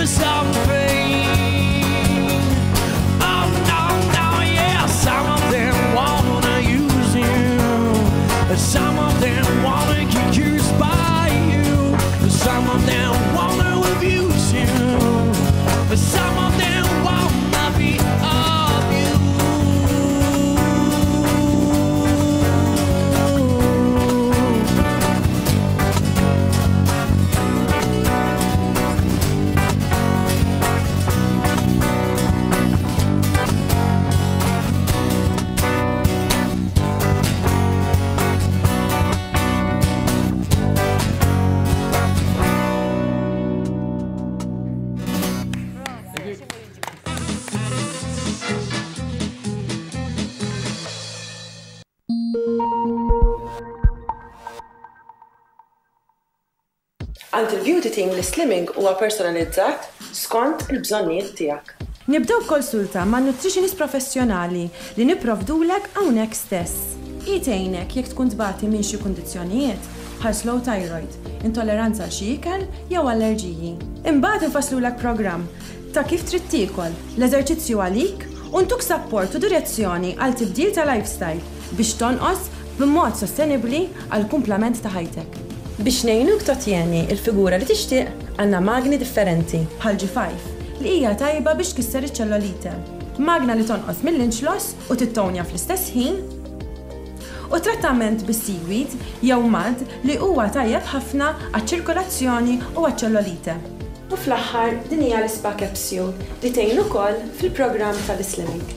something. Oh no, no, yeah. Some of them wanna use you. Some of them wanna get used by you. Some of them wanna abuse you. Some of them wanna be of you. Għand il-beauty team l-slimming huwa personalizzat skont il-bżonnijiet tiegħek. Nibdew konsulta ma' nutritionist professjonali li nipprovdulek hawnhekk stess. Tgħinek jekk tkun tbati minn xi kundizzjonijiet bħal slow thyroid, intolleranza għal xi ikel jew allerġiji. Imbagħad infasslulek programm ta' kif trid tiekol, l-eżerċizzju għalik u ntuk support u direzzjoni għal tibdil ta' lifestyle biex tonqos b'mod sostenibbli għal kumplament ta' ħajtek. Biex ngħinuk totjeni il-figura li tixtieq għandna magni differenti bħal G five li hija tajba biex tkisser iċ-ċellulite. Magna li tonqos mill-inch loss u tittonja fl-istess ħin u trattament bis-seaweed jew mud li huwa tajjeb ħafna għaċ-ċirkolazzjoni u għaċ-ċellulite. U fl-aħħar din hija l-spa capsule li tgħin ukoll fil-programm tal-slimming.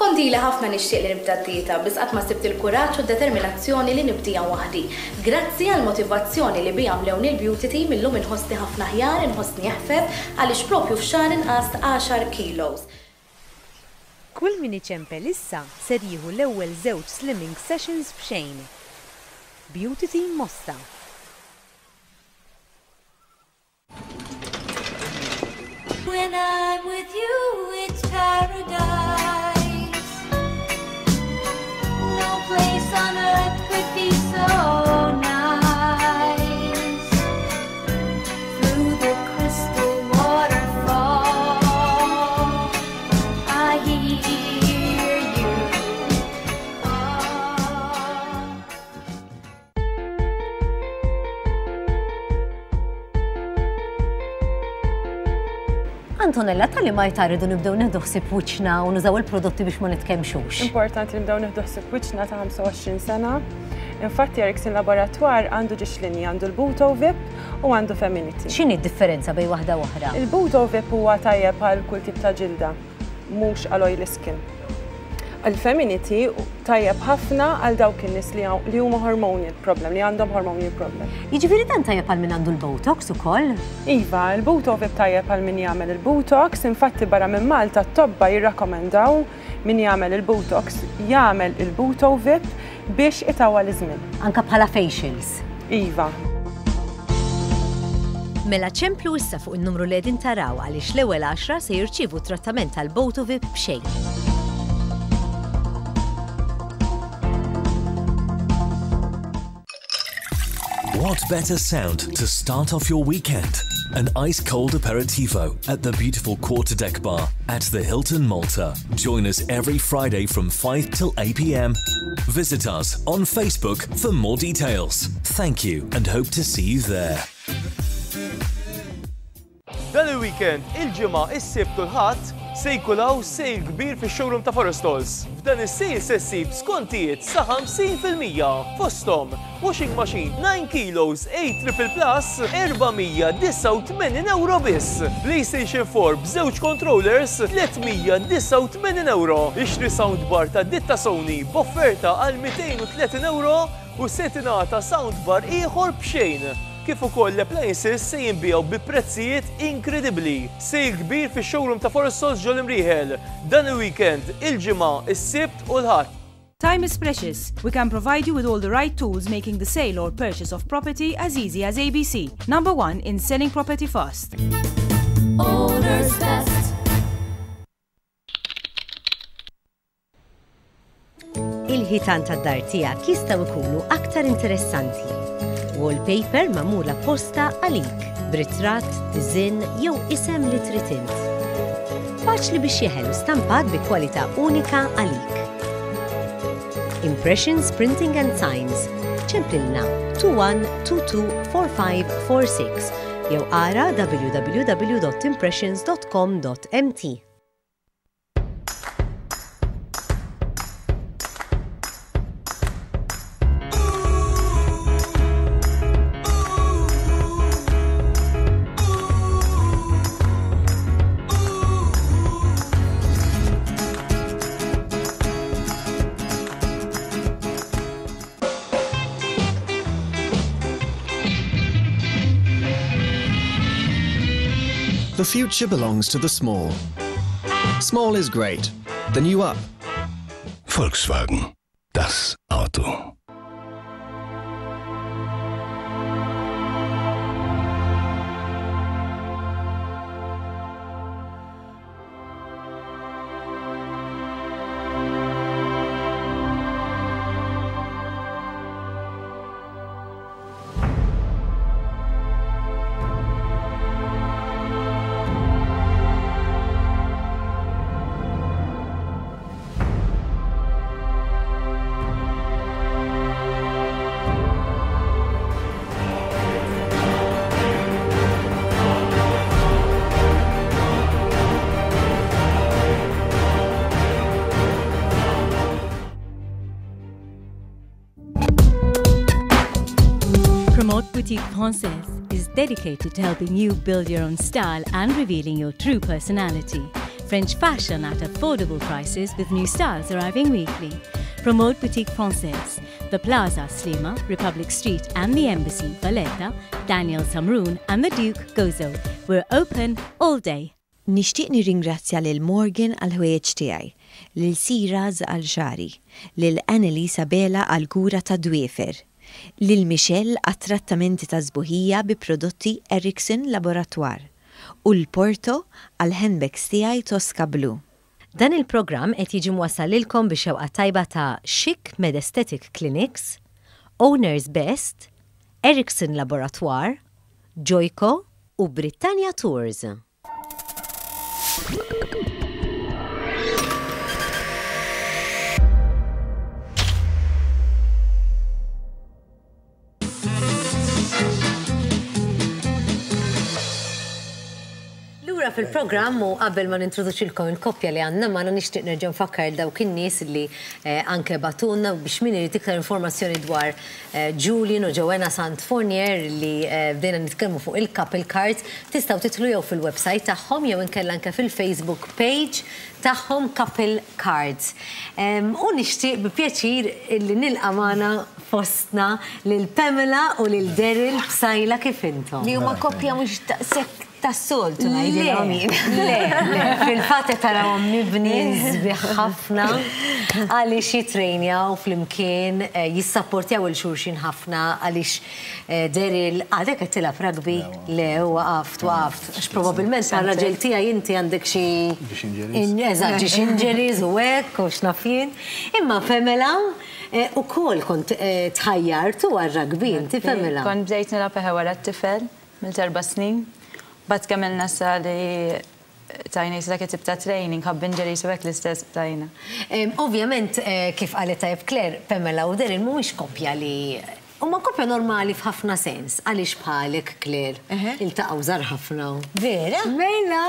Kont ili ħafna nixtieq li nibda d-dieta, biss qatt ma sibt il-kuraġġ u determinazzjoni li nibdija waħdi. Grazzi għal motivazzjoni li bija mlewni l-beauty team, illum inħossni ħafna aħjar, inħossni eħfef għaliex propju f'xahar inqast għaxar kilos. Kull min iċempel issa ser jieħu l-ewwel żewġ slimming sessions b'xejn. Beauty Team Mosta. When I'm with you, it's paradise. No place on earth could be so nice. Through the crystal waterfall, I hear you call. Antonella, tal-li ma jtaridu nibdew nieħdu ħsieb wiċċna u nużaw il-prodotti biex ma nitkemxux. Importanti li nibdew nieħdu ħsieb wiċċna ta' ħamsa u għoxrin sena. Infatti Erickson Laboratoire għandu żewġ linji, għandu l-Buto V I P u għandu Feminity. X'inhi d-differenza bejn waħda u oħra? Il-Buto V I P huwa tajjeb għal kull tip ta' ġilda, mhux għal oily skin. Il-Feminity tajjeb ħafna għal dawk in-nies li li huma hormonal problem, li għandhom hormonal problem. Jiġifieri dan tajjeb għal min għandu l-Botox ukoll? Iva, il-Buto V I P tajjeb għal min jagħmel il-Botox, infatti barra minn Malta t-tobba jirrakkomendaw min jagħmel il-Botox jagħmel il-Buto V I P biex itawwal iż-żmien. Anka bħala facials. Iva. Mela ċemplu issa fuq in-numru li qegħdin taraw għaliex l-ewwel għaxra se jirċievu trattament tal-Boto V I P b'xejn. What better sound to start off your weekend? An ice cold aperitivo at the beautiful Quarterdeck Bar at the Hilton Malta. Join us every Friday from five till eight p m. Visit us on Facebook for more details. Thank you and hope to see you there. Dan il-weekend, il-Ġimgħa, is-Sibt u l-Ħadd se jkun hawn sale kbir fix-showroom ta' Forestals. F'dan is-sale se ssib skontijiet sa ħamsin fil-mija. Fosthom washing machine nine kilos A triple plus erba' mija disgħa u tmenin euro biss. PlayStation four b'żewġ controllers tliet mija disgħa u tmenin euro. Ixtri soundbar ta' ditta Sony b'offerta għal mitejn u tletin euro u se tingħata soundbar ieħor b'xejn. Kif ukoll l-appliances se jinbiegħu bi prezzijiet inkredibbli. Sale kbir fix-showroom ta' Forestals ġol-Imrieħel. Dan il-weekend, il-Ġimgħa, is-Sibt u l-Ħadd. Time is precious. We can provide you with all the right tools, making the sale or purchase of property as easy as A B C. Number one in selling property fast. Owner's best. Il-ħitan tad-dar tiegħek jistgħu jkunu aktar interessanti. Wallpaper magħmula apposta għalik, b'ritratt, diżinn jew isem li trid int. Faċli biex jeħel u stampat bi kwalità unika għalik. Impressions Printing and Signs. Ċemplilna tnejn wieħed tnejn tnejn erba' ħamsa erba' sitta jew ara w w w dot impressions dot com dot m t. The future belongs to the small. Small is great. The new up. Volkswagen. Das Auto. Haute Boutique Française is dedicated to helping you build your own style and revealing your true personality. French fashion at affordable prices with new styles arriving weekly. From Haute Boutique Française, the Plaza Sliema, Republic Street and the Embassy, Valletta, Daniel Samroon and the Duke Gozo. We're open all day. Nixtieq nirringrazzja lil Morgan għal ħwejjeġ tiegħi, lil Siraz għal xagħri, lil Annalisa Bela għal kura ta' dwiefer, lil Michelle għat trattamenti ta' sbuħija bi prodotti Erickson Laboratoire u l-Porto għal handbags tiegħi Tosca Blue. Dan il-programm qed jiġi mwassal lilkom bi xewqa tajba ta' Chic Med Aesthetic Clinics, Owners Best, Erickson Laboratoire, Joyco u Britannia Tours. Lura fil-programm u qabel ma nintroduċilkom il-koppja li għandna magħna nixtieq nerġa' nfakkar dawk in-nies li eh, anke bagħtulna biex min irid iktar informazzjoni dwar eh, Julian u Joanna Sant Fournier li eh, bdejna nitkellmu fuq il-couple cards, tistgħu tidħlu jew fil-website tagħhom jew inkella anke fil-Facebook page tagħhom Couple Cards. U nixtieq bi pjaċir li nilqa' magħna fostna lil Pamela u lil Daryl Psaila kif intom. Li huma koppja mhux daqshekk tas-soltu ngħidilhom jien. Le, le, fil-fatt qed tarawhom mibnijin sbieħ ħafna għaliex jitrejnjaw flimkien, jissapportjaw il xulxin ħafna għaliex Daryl għadek qed tilgħab rugby? Le, waqaft, waqaft. Għax probabbilment għar-raġel tiegħi inti għandek xi eżatt, ġiex injuries u hekk u x'naf jien. Imma Pamela ukoll kont tħajjartu għar-rugby inti Pamela. Kont bdejt nilgħab eħe wara t-tifel mill-erba' snin. Bat kemm nasa li tajna jisa dak tip ta' training, ħabb injuries u hekk l-istess tajna. Ovvjament, kif qalet tajjeb Claire, Pamela u Daryl mhuwiex koppja li huma koppja normali f'ħafna sens, għaliex bħalek Claire iltaqgħu żgħar ħafna. Vera? Mela!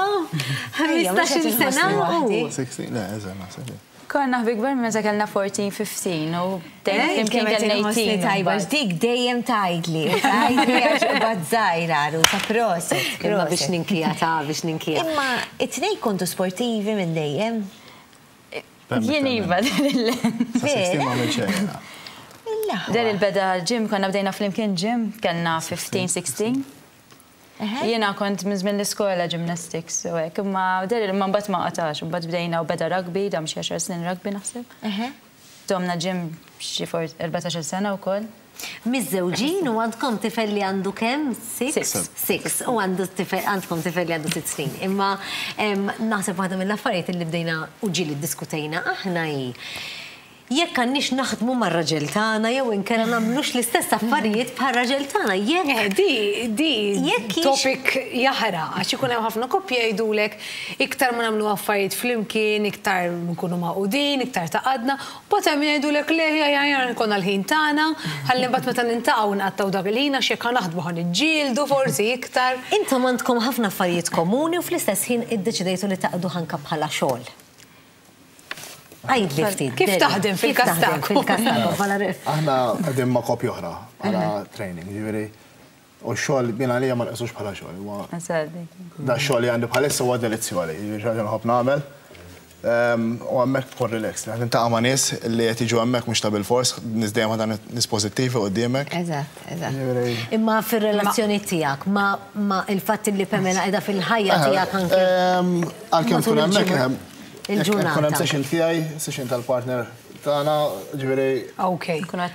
ħmistax-il sena u. Le, eżatt, naħseb. Konna ħbi kbar meta kellna fourteen, fifteen u dejjem kien kellna eighteen. Tajba, dik dejjem tgħidli, tgħidli għax bad żgħira ta' proset. Imma biex ninkija ta' biex ninkija. Imma it-tnejn kontu sportivi minn dejjem? Jien iva, Vera? Daryl beda gym, konna bdejna flimkien gym, kellna fifteen, sixteen. Jiena kont minn żmien l-iskola gymnastics u hekk, imma Daryl imma mbagħad ma qatax, mbagħad bdejna u beda rugby, dam xi għaxar snin rugby naħseb. Domna gym xi erbatax-il sena wkoll. Miżżewġin u għandkom tifel li għandu kemm? Six? Six. U għandkom tifel li għandu sitt snin. Imma naħseb waħda mill-affarijiet li bdejna u ġieli ddiskutejna aħna hi jekk għandniex naħdmu mar-raġel tagħna jew inkella nagħmlux l-istess affarijiet bħar-raġel tagħna. Jekk di di topic jaħraq għax ikun hemm ħafna koppji jgħidulek iktar ma nagħmlu affarijiet flimkien, iktar nkunu magħqudin, iktar taqadna, u mbagħad hemm jgħidulek le ejja nkollna l-ħin tagħna, ħalli mbagħad meta nintaqgħu nqattgħu dak il-ħin għax jekk naħdmu ħa niġġieldu forsi iktar. Intom għandkom ħafna affarijiet komuni u fl-istess ħin iddeċidejtu li taqdu ħanka bħala xogħol. Għajdli ftit. Kif taħdem fil-każ tagħkom? Aħna qegħdin ma' koppja oħra bħala training, jiġifieri u x-xogħol jien għalija ma nqisux bħala xogħol. Da x-xogħol li għandi bħalissa huwa delizzjoli, jiġifieri xi ħaġa nħobb nagħmel. U hemmhekk tkun relaxed, qed niltaqa' ma' nies li qed jiġu hemmhekk mhux ta' bilfors, nies dejjem ħa nies pożittivi quddiemek. Eżatt, eżatt. Imma fir-relazzjoni tiegħek ma' il-fatt li Pamela qiegħda fil-ħajja tiegħek anke. Għalkemm tkun hemmhekk il-ġurnata. Kun hemm session tiegħi, session tal-partner tagħna, ġifieri. Ok.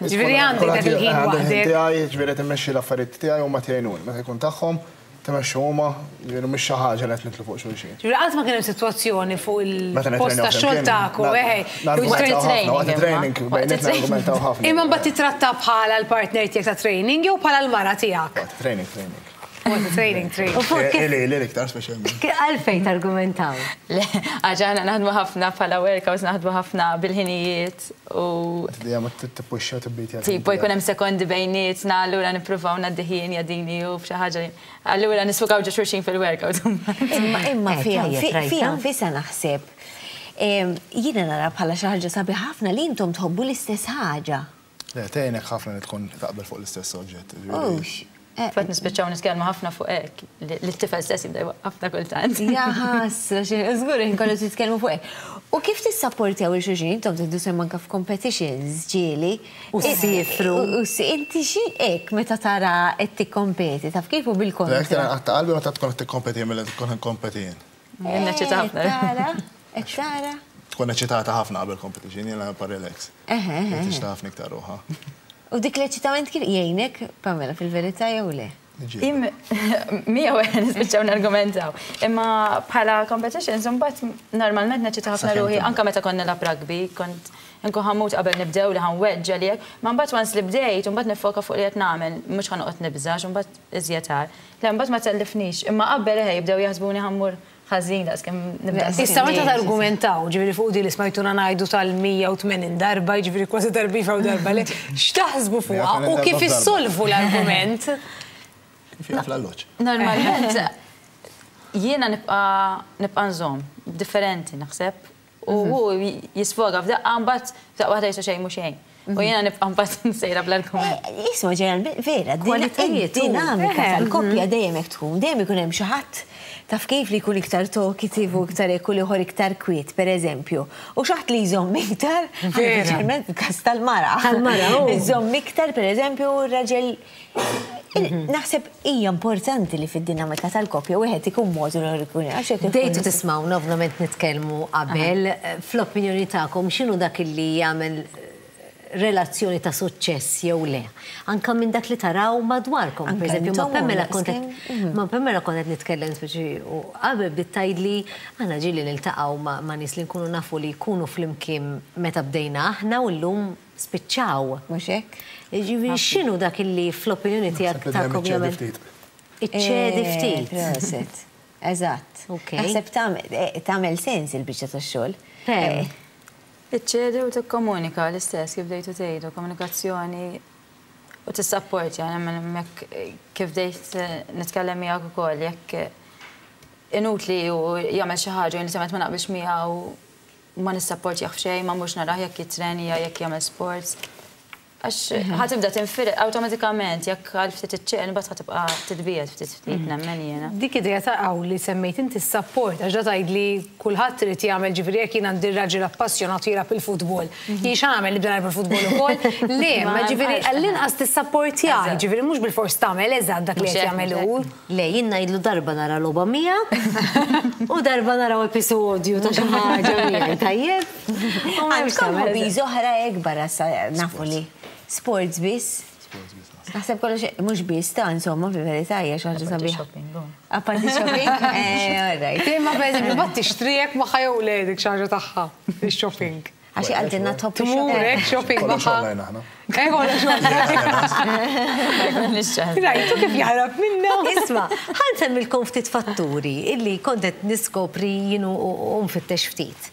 Ġifieri għandek dak il-ħin waħdek. Tiegħi, ġifieri timmexxi l-affarijiet tiegħi huma tgħinuni. Meta jkun tagħhom, timexxu huma, ġifieri mhux xi ħaġa li qed nitlu fuq xulxin. Ġifieri qatt ma kien hemm sitwazzjoni fuq il-post tax-xogħol tagħkom, eħe. Waqt training bejnietna argumentaw ħafna. Imma mbagħad titratta bħala l-partner tiegħek ta' training jew bħala l-mara tiegħek? Waqt training, training. Training, training. Ili, ili iktar speċjalment. Għalfejn targumentaw? Le, għax aħna naħdmu ħafna bħala workouts, naħdmu ħafna bil-ħinijiet u. Dejjem ma tippuxxa tibbitja. Tipo jkun hemm sekondi bejnietna, allura nippruvaw ngħaddi ħin jadini u f'xi ħaġa. Allura nisfukaw ġo xulxin fil-workout. Imma imma fiha fiha nfisha naħseb. Jiena nara bħala xi ħaġa sabiħ ħafna li intom tħobbu l-istess ħaġa. Le, tgħinek ħafna li tkun taqbel fuq l-istess oġġett. Fatt nispiċċaw nitkellmu ħafna fuq hekk, li t-tifel stess jibda jwaqqafna kultant. Jaħasra, żgur inkollu titkellmu fuq hekk. U kif tissapportjaw lil xulxin intom tieħdu sehem anke f'competitions ġieli. U ssifru. U inti xi hekk meta tara qed tikkompeti, taf kif u bil-kontra. Jekk tara qatta qalbi meta tkun qed tikkompeti milli tkun ikkompeti jien. Jien neċċita ħafna. Tara, qed tara. Tkun eċitata ħafna qabel competition, jiena nibqa' relax. Eħe, eħe. Tixta ħafna iktar ruħha. U dik l-eċitament kif jgħinek, Pamela, fil-verità jew le? Miegħu nispiċċaw nargumentaw. Imma bħala competitions, imbagħad normalment neċita ħafna ruħi, anke meta konna nilgħab rugby, kont nkun ħammut qabel nibdew li ħanweġġa li hekk, ma mbagħad once li bdejt, imbagħad nifoka fuq li qed nagħmel, mhux ħanoqgħod nibżax, imbagħad iżjed għar. Le mbagħad ma tellifnix, imma qabel eħe jibdew jaħsbuni ħammur ħażin daqs kemm nibda. Issa meta targumentaw, ġifieri fuq di li smajtuna ngħidu tal-mija u tmenin darba, ġifieri kważi darba iva u darba le, x'taħsbu fuqha u kif issolvu l-argument? Kif jaf l-alloġġ? Normalment jiena nibqa' nibqa' nżomm, differenti naħseb, u hu jisfoga f'daqqa mbagħad f'daqqa waħda jisu xejn mhu xejn. U jiena nibqa' mbagħad nsejra bl-argument. Isma' ġeneralment vera, dinamika tal-koppja dejjem hekk tkun, dejjem ikun hemm xi ħadd taf kif li jkun iktar talkative u iktar hekk u l-ieħor iktar kwiet, pereżempju. U xi ħadd li jżomm iktar, speċjalment fil-każ tal-mara. Tal-mara, Iżomm iktar, pereżempju, r-raġel. Naħseb hija importanti li fid-dinamika tal-koppja wieħed ikun mod u l-ieħor ikun għax hekk. Bdejtu tismgħuna ovvjament nitkellmu qabel, fl-opinjoni tagħkom x'inhu dak li jagħmel relazzjoni ta' suċċess jew le. Anka minn dak li taraw madwarkom. Per eżempju, ma' Pamela kont ma' Pamela kont qed nitkellem speċi u qabel bdiet tgħidli aħna ġieli niltaqgħu ma' nies li nkunu nafu li jkunu flimkien meta bdejna aħna u llum spiċċaw. Mhux hekk? Ġifieri x'inhu dak li fl-opinjoni tiegħek tagħkom jagħmel? Iċċedi ftit. Proset. Eżatt. Naħseb tagħmel sens il-biċċa tax-xogħol. Iċċedi u tikkomunika l-istess kif bdejtu tgħidu, komunikazzjoni u tissapportja, nemmen jekk kif bdejt nitkellem miegħek ukoll, jekk inutli u jagħmel xi ħaġa li ma naqbilx miegħu ma nissapportjah f'xejn, ma mhux narah jekk jitrenja, jekk jagħmel sports. Għax ħa tibda tinfired awtomatikament jekk għal ftit iċċeqen imbagħad ħa tibqa' titbiegħed ftit ftit nemmen jiena. Dik idea ta' hawn li semmejt inti s-sapport għax da tgħidli kulħadd irid jagħmel ġifieri jekk jien għandi raġel appassjonat jilgħab il-futbol. Jien x'għamel nibda nilgħab il-futbol ukoll? Le, ma ġifieri għall-inqas tissapportjah, ġifieri mhux bilfors tagħmel eżatt dak li qed jagħmel hu. Le, jien ngħidlu darba nara logħba miegħek u darba naraw episodju ta' xi ħaġa miegħi, tajjeb? Għandkom hobbies oħra hekk barra nafu li sports biss. Naħseb kollox mhux biss ta' insomma fil-verità hija xi ħaġa sabiħa. Apparti shopping? Eh, all right. Imma pereżempju ma tixtrijek magħha jew le dik xi ħaġa tagħha, ix-shopping. Għax għaltinna tħobb Tmur shopping magħha. Eh, kollox online. Rajtu kif jaħrab minna. Isma', ħa nsemmilkom ftit fatturi illi kont qed niskopri jien u nfittex ftit.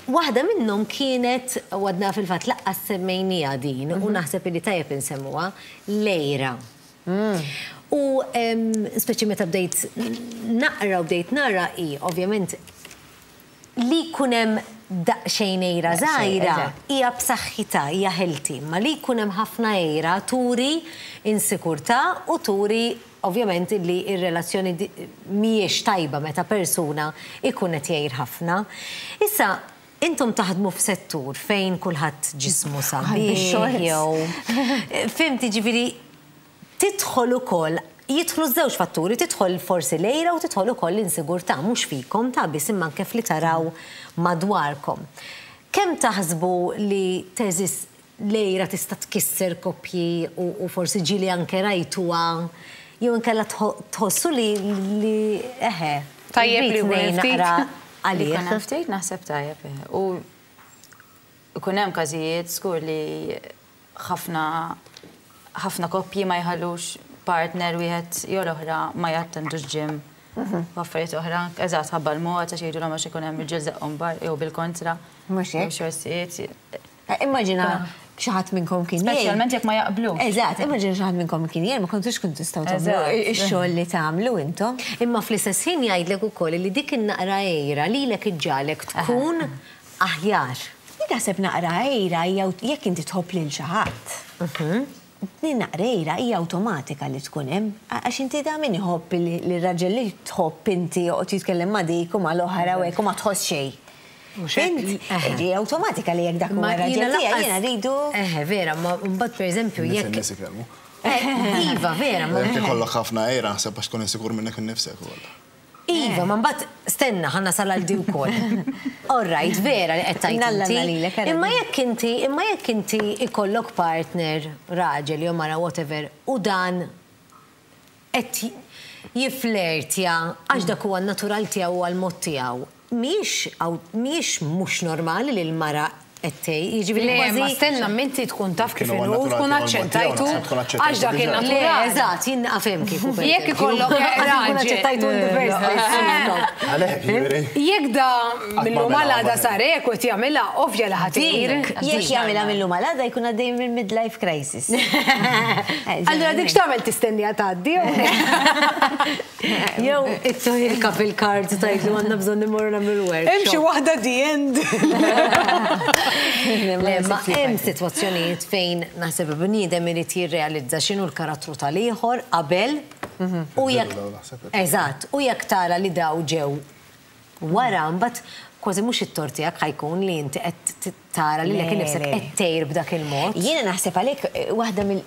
Waħda minnhom kienet, u għadna fil-fatt laqqas semmejnija din, u naħseb illi tajjeb insemmuha, l-għira. U speċi meta bdejt naqra u bdejt nara hi, ovvjament, li jkun hemm daqsxejn għira żgħira hija b'saħħitha, hija healthy, ma li jkun hemm ħafna għira turi insikurtà u turi ovvjament li r-relazzjoni mhijiex tajba meta persuna ikun qed jgħir ħafna. Issa, intom taħdmu f'settur fejn kulħadd ġismu sabiħ jew fimti ġifieri tidħol ukoll jidħlu żewġ fatturi, tidħol forsi l-għira u tidħol ukoll l-insigurtà, mhux fikom ta' biss imma anke fli taraw madwarkom. Kemm taħsbu li teżis l-għira tista' tkisser koppji u forsi ġieli anke rajtuha jew inkella tħossu li li eħe. Tajjeb li jkun ftit. Għalih. Jkun hemm ftit naħseb tajjeb. U jkun hemm każijiet żgur li ħafna ħafna koppji ma jħallux partner wieħed jew l-oħra ma jattendux gym. U affarijiet oħra, eżatt ħabba l-mod għax jgħidulhom għax ikun hemm irġiel żaqqhom bar jew bil-kontra. Mhux hekk. Xorsijiet. Immaġina xi ħadd minnkom kien jgħid. Speċjalment jekk ma jaqblux. Eżatt, immaġina xi ħadd minnkom kien jgħid ma kontux kun tistgħu tagħmlu ix-xogħol li tagħmlu intom. Imma fl-istess ħin jgħidlek ukoll li dik in-naqra għira lilek iġġagħlek tkun aħjar. Jien naħseb naqra għira hija jekk inti tħobb lil xi ħadd. Din naqra għira hija awtomatika li tkun hemm, għax inti da min iħobb li raġel li tħobb inti joqgħod jitkellem ma' dik u mal-oħra u hekk u ma tħoss xejn. Fhimt, ġi awtomatika li jekk dak huwa raġel tiegħi jiena rridu. Eħe, vera, ma mbagħad pereżempju Nies jekk. in-nies ikellmu. Iva, vera, ma. Jekk ikollok ħafna għira, naħseb għax tkun insikur minnek innifsek ukoll. Iva, ma mbagħad stenna ħa nasal għal di wkoll. All right, vera li qed tgħid Nalla inti. nalilek, ara Imma di. jekk inti, imma jekk inti ikollok partner, raġel jew mara whatever, u dan qed jiflertja għax dak huwa n-natural tiegħu u għall-mod tiegħu. Mhijiex mhijiex mhux normali li l-mara qed tgħid, jiġifieri Le, ma kważi. stenna minti tkun taf kif Kienu inhu, għan-natural tkun tiegħu, aċċettajtu, naħseb tkun aċċettajtu għax dak diġà. Le, il-natural. eżatt, jien naqfem kieku. per Jekk eżempju. ikollok Għax nkun raġel. aċċettajtu in the first place. Għalhekk, jiġifieri. Jekk da mill-lum ma għal għada mela, sar hekk u qed jagħmilha ovvja li ħa tgħir. Jekk jagħmilha mill-lum għal għada jkun għaddej minn midlife crisis. Allura dik x'tagħmel tistennija tgħaddi? Jew ittih il-couple cards tgħidlu għandna bżonn immorru nagħmlu workshop. Hemm xi waħda the end. Le, ma hemm sitwazzjonijiet fejn naħseb bniedem irid jirrealizza x'inhu l-karattru tal-ieħor qabel u jekk Eżatt, u jekk tara li daw ġew wara mbagħad kważi mhux it-tort tiegħek ħa jkun li inti qed tara li lek innifsek qed tgħir b'dak il-mod. Jiena naħseb għalhekk eh, waħda mill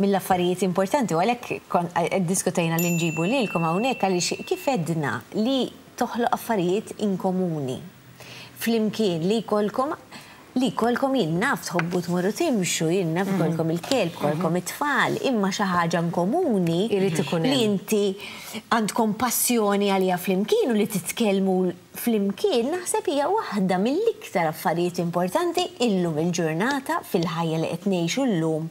mill-affarijiet importanti u għalhekk diskutejna li nġibu lilkom hawnhekk għaliex kif edna li toħloq affarijiet inkomuni. Flimkien li jkollkom li jkollkom jien naf tħobbu tmorru timxu, jien naf jkollkom il-kelb, jkollkom it-tfal, imma xi ħaġa komuni Irid ikun li hemm. inti għandkom passjoni għalija flimkien u li titkellmu flimkien, naħseb hija waħda mill-iktar affarijiet importanti illum il-ġurnata fil-ħajja li qed ngħixu llum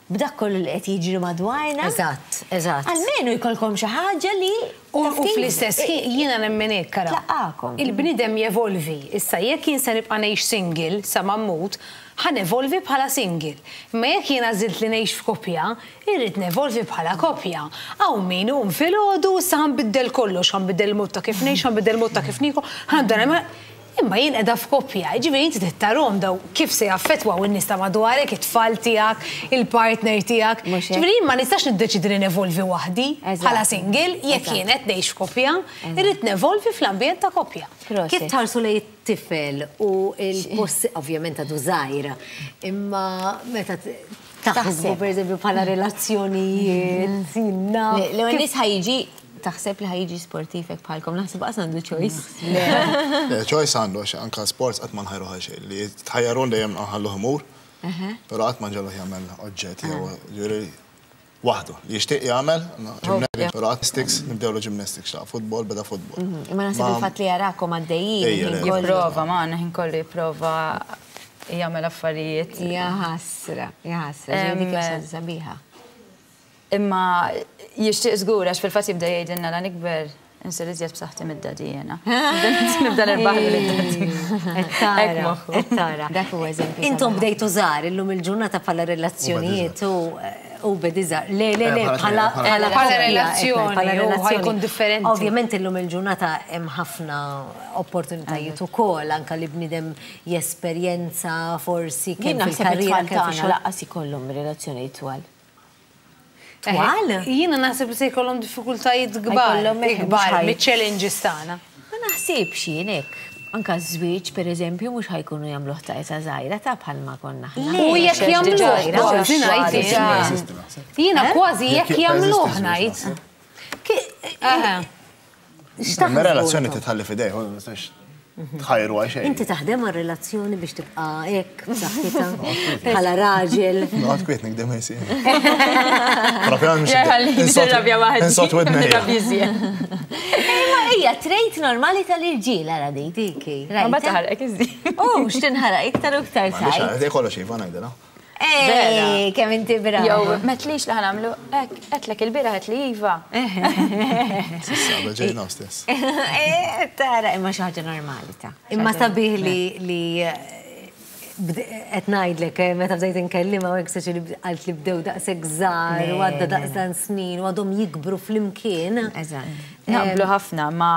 b'dak kollu li qed jiġri madwarna. Eżatt, eżatt. Almenu jkollkom xi ħaġa li U taf u kif- fl-istess ħin jiena nemmen hekk ara. Tlaqqakom. Il-bniedem jevolvi. Issa jekk jien se nibqa' ngħix single sa ma mmut, ħa nevolvi bħala single. Imma jekk jien għażilt li ngħix f'koppja, irrid nevolvi bħala koppja. Hawn min hum filgħodu issa ħa nbiddel kollox, ħa nbiddel il-mod ta' kif ngħix, ħa nbiddel il-mod ta' kif nieku, ħa nibda nagħmel Imma jien qiegħda f'koppja, jiġifieri inti trid tarahom daw kif se jaffettwaw in-nies ta' madwarek, it-tfal tiegħek, il-partner tiegħek. Mhux hekk. Ġifieri jien ma nistax niddeċidi li nevolvi waħdi Eżatt. bħala single, jekk Eżatt. jien qed ngħix f'koppja, irrid nevolvi fl-ambjent ta' koppja. Kif tħarsu lejn it-tifel u il-post, ovvjament għadu żgħir, imma meta t- taħsbu per eżempju bħala relazzjonijiet, jinna. L-ewwel nies ħa jiġi taħseb li ħa jiġi sportiv hekk bħalkom, naħseb qas għandu choice. Le, choice għandu, għax anka sports qatt ma nħajru xejn li tħajjarun dejjem nħalluh imur, però qatt ma nġelluh jagħmel oġġett jew ġifieri waħdu. Li jixtieq jagħmel, gymnastics, però gymnastics nibdewlu gymnastics, la futbol beda futbol. Imma naħseb Ma- il-fatt li jarakom għaddejjin. Ejja, il-ħin le. kollu. Jipprova, ma ħin kollu jipprova jagħmel affarijiet. Ja ħasra, ja ħasra, ġifieri dik hija xi sabiħa. Imma jixtieq żgur għax fil-fatt jibda jgħidilna la nikber insir iżjed b'saħħti mid-daddy jiena. Nibda nirbaħlu lid-daddy. Qed tara, qed tara. Dak huwa eżempju. Intom bdejtu żgħar illum il-ġurnata bħala relazzjonijiet u u bedi żgħar. Le, le, le, Eh, bħala bħala bħala Bħala relazzjoni, bħala u relazzjoni. ħa jkun differenti. Ovvjament illum il-ġurnata hemm ħafna opportunitajiet ukoll anke li bniedem jesperjenza forsi Jien kemm naħseb fil-karriera it-tfal kemm tagħna fix-xogħol. lanqas ikollhom relazzjonijiet twal. Twal? Jiena naħseb li se jkollhom diffikultajiet kbar, Ħa jkollhom eħe, ikbar mhux ħaj- miċ-challenges tagħna. Ma naħsibx jien hekk. Anka żwieġ pereżempju mhux ħa jkunu jagħmluh ta' età żgħira ta' bħalma konna aħna. U jekk jagħmluh kważi ngħid jien. Jiena kważi jekk jagħmluh ngħid. Aha. Ma relazzjoni titħalli f'idejh, ma nistax tħajru għal xejn. Inti taħdem għal relazzjoni biex tibqa' hekk b'saħħitha bħala raġel. Noqgħod kwiet nikdem ħajsien. Propju Ħalli nirrabja waħdi. Insot widnejja. Nirrabja iżjed. Imma hija trait normali tal-irġiel ara dik. Diki. Ma mbagħad taħarqek iżjed. U x'tinħaraq iktar u iktar M'għandix tajt. għal kollox iva ngħidilha. Ej, kemm inti brava. Jew metlix li ħa nagħmlu hekk, għedtlek il-bieraħ għedt li iva. Sissa, ġejna stess. Eh, Tara, imma xi ħaġa normali ta' Imma sabiħ li li qed ngħidlek eh, meta bdejt inkellimha u hekk saċi li qalt li bdew daqshekk żgħar u għadda daqsan snin u għadhom jikbru flimkien. Eżatt. Naqblu ħafna, ma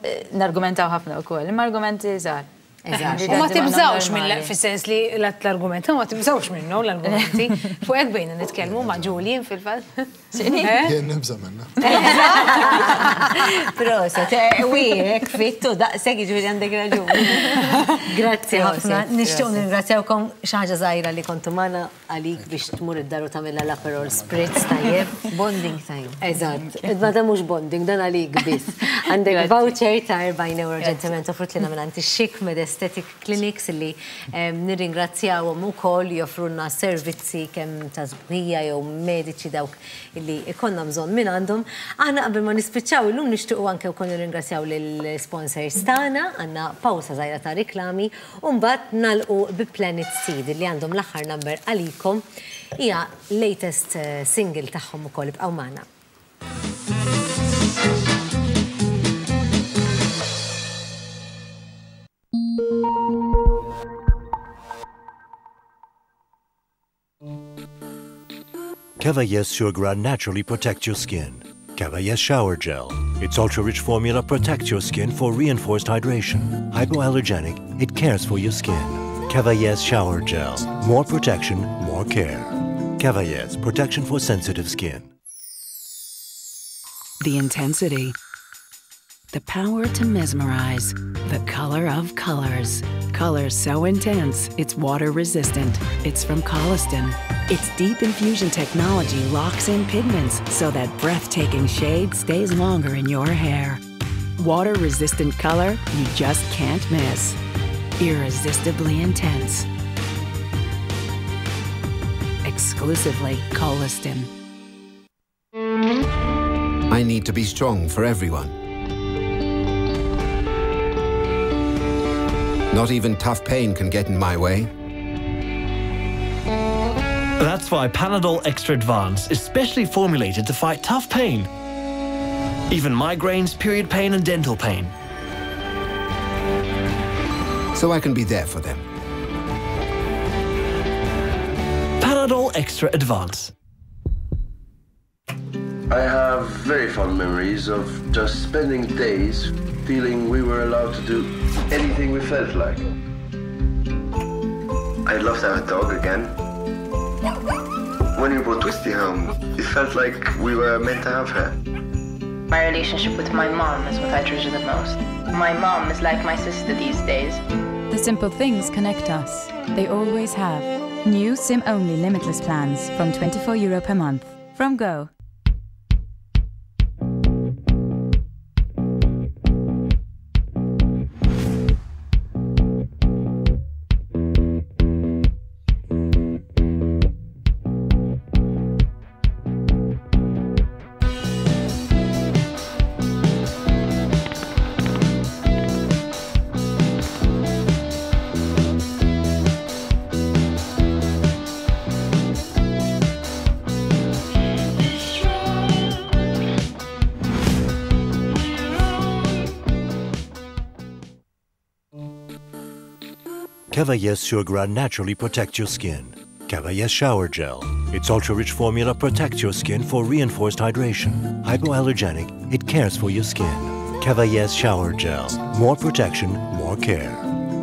eh, nargumentaw ħafna wkoll, imma argumenti żgħar. U ma tibżawx minn fis-sens li l-argument, ma tibżawx minnu l-argumenti. Fuq hekk bejna nitkellmu ma' Julian fil-fatt. Jien nibża' minna. Proset, wieħek fittu daqshekk jiġifieri għandek raġun. Grazzi ħafna. Nixtieq nirringrazzjawkom xi ħaġa żgħira li kontu magħna għalik biex tmur id-dar u tagħmilha l-Aperol Spritz tajjeb. Bonding time. Eżatt. Ma dan mhux bonding, dan għalik biss. Għandek voucher ta' erbgħin euro ġentilment offrut lilna minn Chic Med Aesthetic Clinics li nirringrazzjawhom ukoll joffrulna servizzi kemm ta' sbuħija jew mediċi dawk li ikonna bżonn minn għandhom. Aħna qabel ma nispiċċaw illum nixtiequ anke wkoll nirringrazzjaw lill-sponsors tagħna, għandna pawsa żgħira ta' riklami u mbagħad nagħlqu bi Planet Seed li għandhom l-aħħar number għalikom hija latest single tagħhom ukoll ibqgħu magħna. Cavaillès Surgras naturally protects your skin. Cavaillès Shower Gel. Its ultra-rich formula protects your skin for reinforced hydration. Hypoallergenic, it cares for your skin. Cavaillès Shower Gel. More protection, more care. Cavaillès, protection for sensitive skin. The intensity. The power to mesmerize. The color of colors. Color so intense, it's water resistant. It's from Koleston. Its deep infusion technology locks in pigments so that breathtaking shade stays longer in your hair. Water-resistant color you just can't miss. Irresistibly intense. Exclusively Koleston. I need to be strong for everyone. Not even tough pain can get in my way. That's why Panadol Extra Advance is specially formulated to fight tough pain. Even migraines, period pain and dental pain. So I can be there for them. Panadol Extra Advance. I have very fond memories of just spending days feeling we were allowed to do anything we felt like. I'd love to have a dog again. When we brought Twisty home, it felt like we were meant to have her. My relationship with my mom is what I treasure the most. My mom is like my sister these days. The simple things connect us. They always have. New SIM-only limitless plans from twenty-four euro per month. From Go. Cavaillès Surgras naturally protects your skin. Cavaillès Shower Gel. Its ultra-rich formula protects your skin for reinforced hydration. Hypoallergenic, it cares for your skin. Cavaillès Shower Gel. More protection, more care.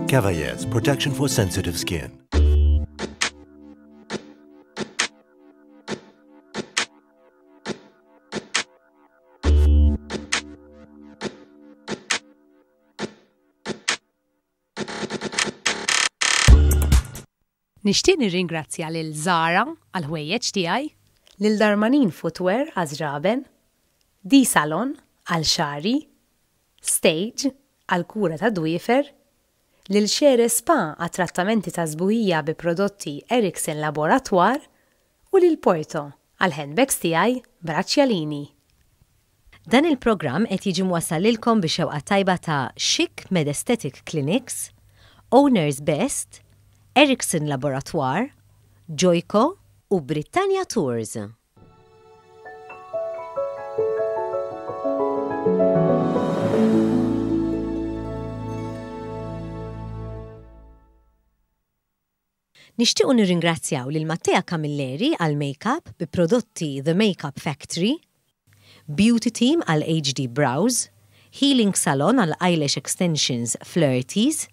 Cavaillès, protection for sensitive skin. Nixtieq nirringrazzja lil Zara għal ħwejjeġ tiegħi, lil Darmanin Footwear għal żraben, D Salon għal xari, Stage għal kura ta' dwiefer, lil Xere Spa għat trattamenti ta' sbuħija bi prodotti Erickson Laboratoire u lil Porto għal handbags tiegħi Braccialini. Dan il-programm qed jiġi mwassal lilkom bi xewqa tajba ta' Chic Med Aesthetic Clinics, Owners Best, Erickson Laboratoire, Joyco u Britannia Tours. Nixtiequ nirringrazzjaw lil Mattea Camilleri għal makeup bi prodotti The Makeup Factory, Beauty Team għal H D Brows, Healing Salon għal Eyelash Extensions Flirties,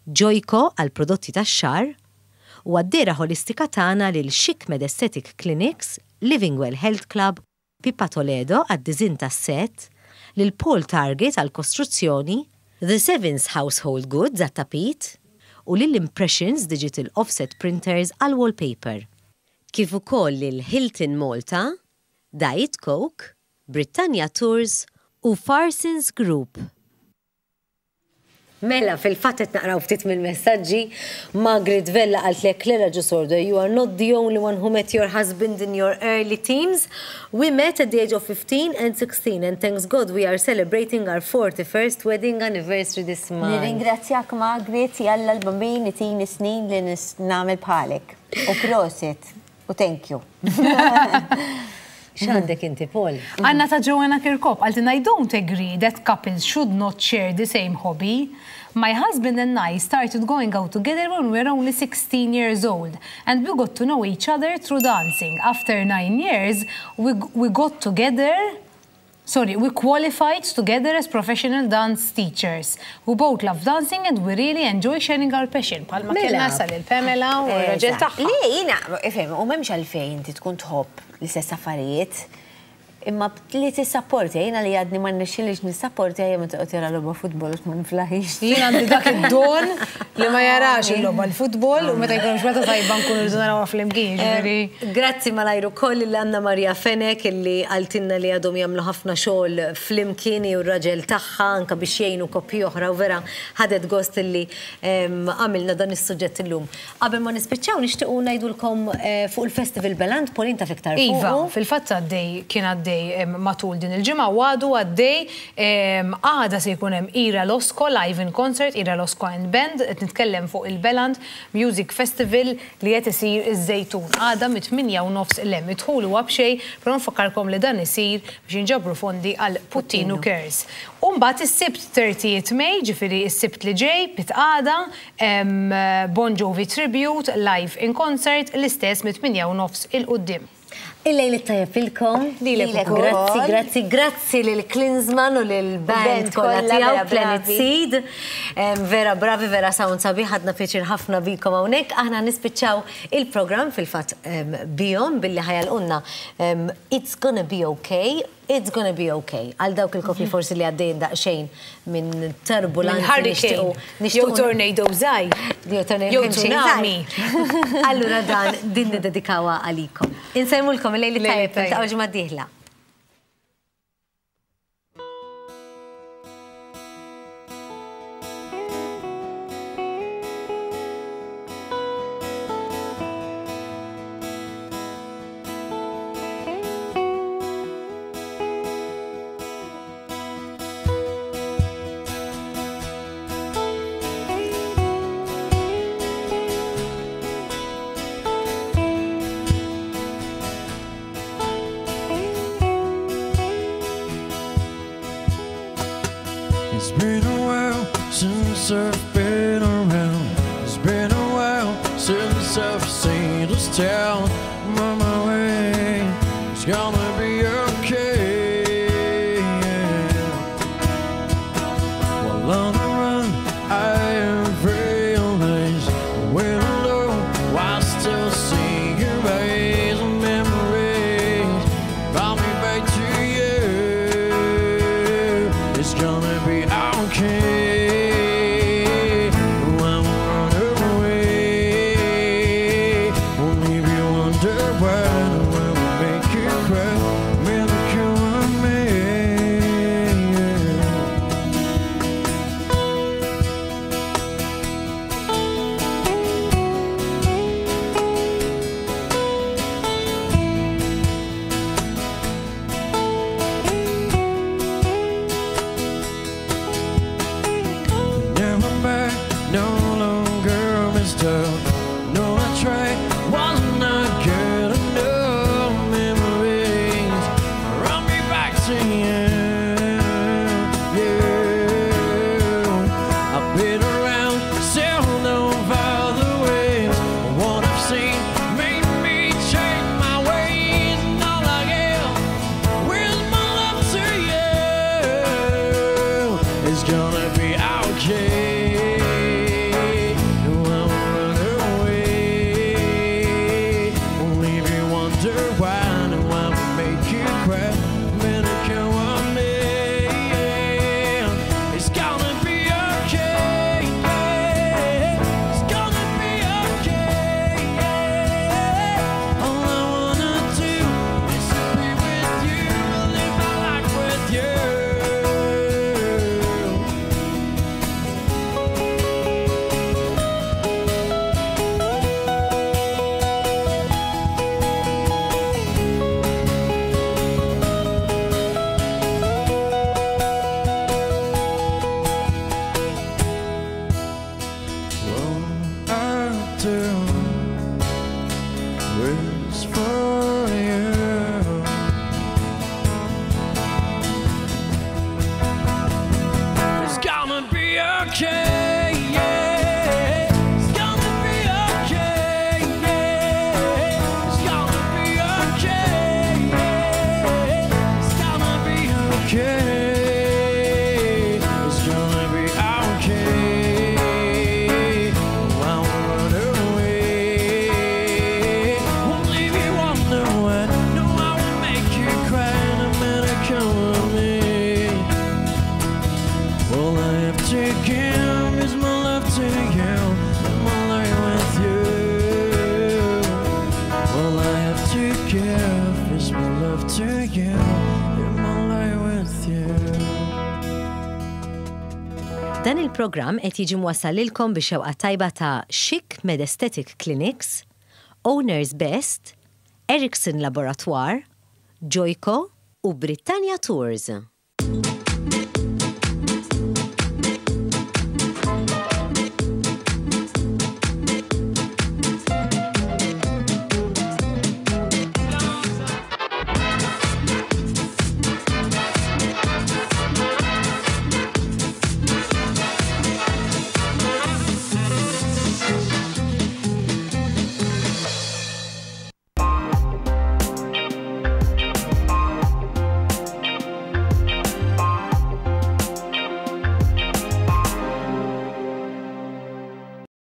Joyco għal prodotti tax-xagħar, u għad-dehra ħolistika tagħna lil Chic Med Aesthetic Clinics, Living Well Health Club, Pippa Toledo għad-diżinn tas-set, lil Paul Target għal kostruzzjoni, The Sevens Household Goods għat-tapit u lil Impressions Digital Offset Printers għal wallpaper. Kif ukoll lil Hilton Malta, Diet Coke, Britannia Tours u Farsons Group. Mela, fil-fatt qed naqraw ftit mill-messaġġi, Margaret Vella qaltlek Clara Giusordo, you are not the only one who met your husband in your early teens. We met at the age of fifteen and sixteen and thanks God we are celebrating our forty-first wedding anniversary this month. Nirringrazzjak Margaret, jalla l-bambin itini snin li nagħmel bħalek. U prosit, u thank you. X'għandek inti, Paul? Għandna ta' Joanna Kirkop, qaltilna I don't agree that couples should not share the same hobby. My husband and I started going out together when we were only sixteen years old, and we got to know each other through dancing. After nine years, we, we got together, sorry, we qualified together as professional dance teachers. We both love dancing and we really enjoy sharing our passion. Palma kellna sal il-Pamela u r-raġel tagħha. Le, jiena, ifhem, u m'hemmx għalfejn inti tkun tħobb l-istess affarijiet, imma li tissapporti, jiena li għadni ma nixxilix nissapporti għajja meta toqgħod jara logħba futbol u ma niflaħix. Jien għandi dak id-don li ma jarax il-logħba l-futbol u meta jkun xmeta tajba nkunu rridu narawha flimkien, jiġifieri. Grazzi malajru koll lil Anna Maria Fenech illi qaltilna li għadhom jagħmlu ħafna xogħol flimkien u r-raġel tagħha anke biex jgħinu koppji oħra u vera ħadet gost illi għamilna dan is-suġġett illum. Qabel ma nispiċċaw nixtiequ ngħidulkom fuq il-Festival Beland, Pauline taf iktar fuq. Iva, fil-fatt għaddej kien għaddej matul din il-ġimgħa u għadu għaddej għada se jkun hemm Ira Losco live in concert, Ira Losco and Band, qed nitkellem fuq il-Beland Music Festival li qed isir iż-Żejtun. Għada mit-tminja u nofs l-hemm idħulu huwa b'xejn, però nfakkarkom li dan isir biex jinġabru fondi għal Puttinu Cares. U mbagħad is-Sibt thirtieth May, ġifieri s-Sibt li ġej, pitqada, Bon Jovi Tribute live in concert l-istess mit-tminja u nofs il-quddiem. Il-lejl it-tajjeb lilkom. Lilek ukoll. Grazzi, grazzi, grazzi lil Klinsmann u lil band kollha tiegħu Planet Seed. Vera bravi, vera sound sabiħ, ħadna pjaċir ħafna bikom hawnhekk. Aħna nispiċċaw il-programm fil-fatt bihom billi ħajalqunna It's Gonna Be Okay. It's gonna be okay. Għal dawk il-koppji forsi li għaddejn daqsxejn minn turbulanzi nixtiequ. Jew tornado żgħir. Jew tsunami. Allura dan din niddedikawha għalikom. Insellmulkom il-lejl it-tajjeb, niltaqgħu ġimgħa d-dieħla. It's been a while since I've been around. It's been a while since I've seen this town. I'm on my way. It's gonna be okay. While on the run, I have realized when alone, I still see your eyes and memories. Brought me back to you. It's gonna be okay. I won't run away. Won't leave you wonder why. I will make you cry. Make you want me. Dan il-programm qed jiġi mwassal lilkom bix-xewqa tajba ta' Chic Medesthetic Clinics, Owners Best, Ericsson Laboratoire, Joyco u Britannia Tours.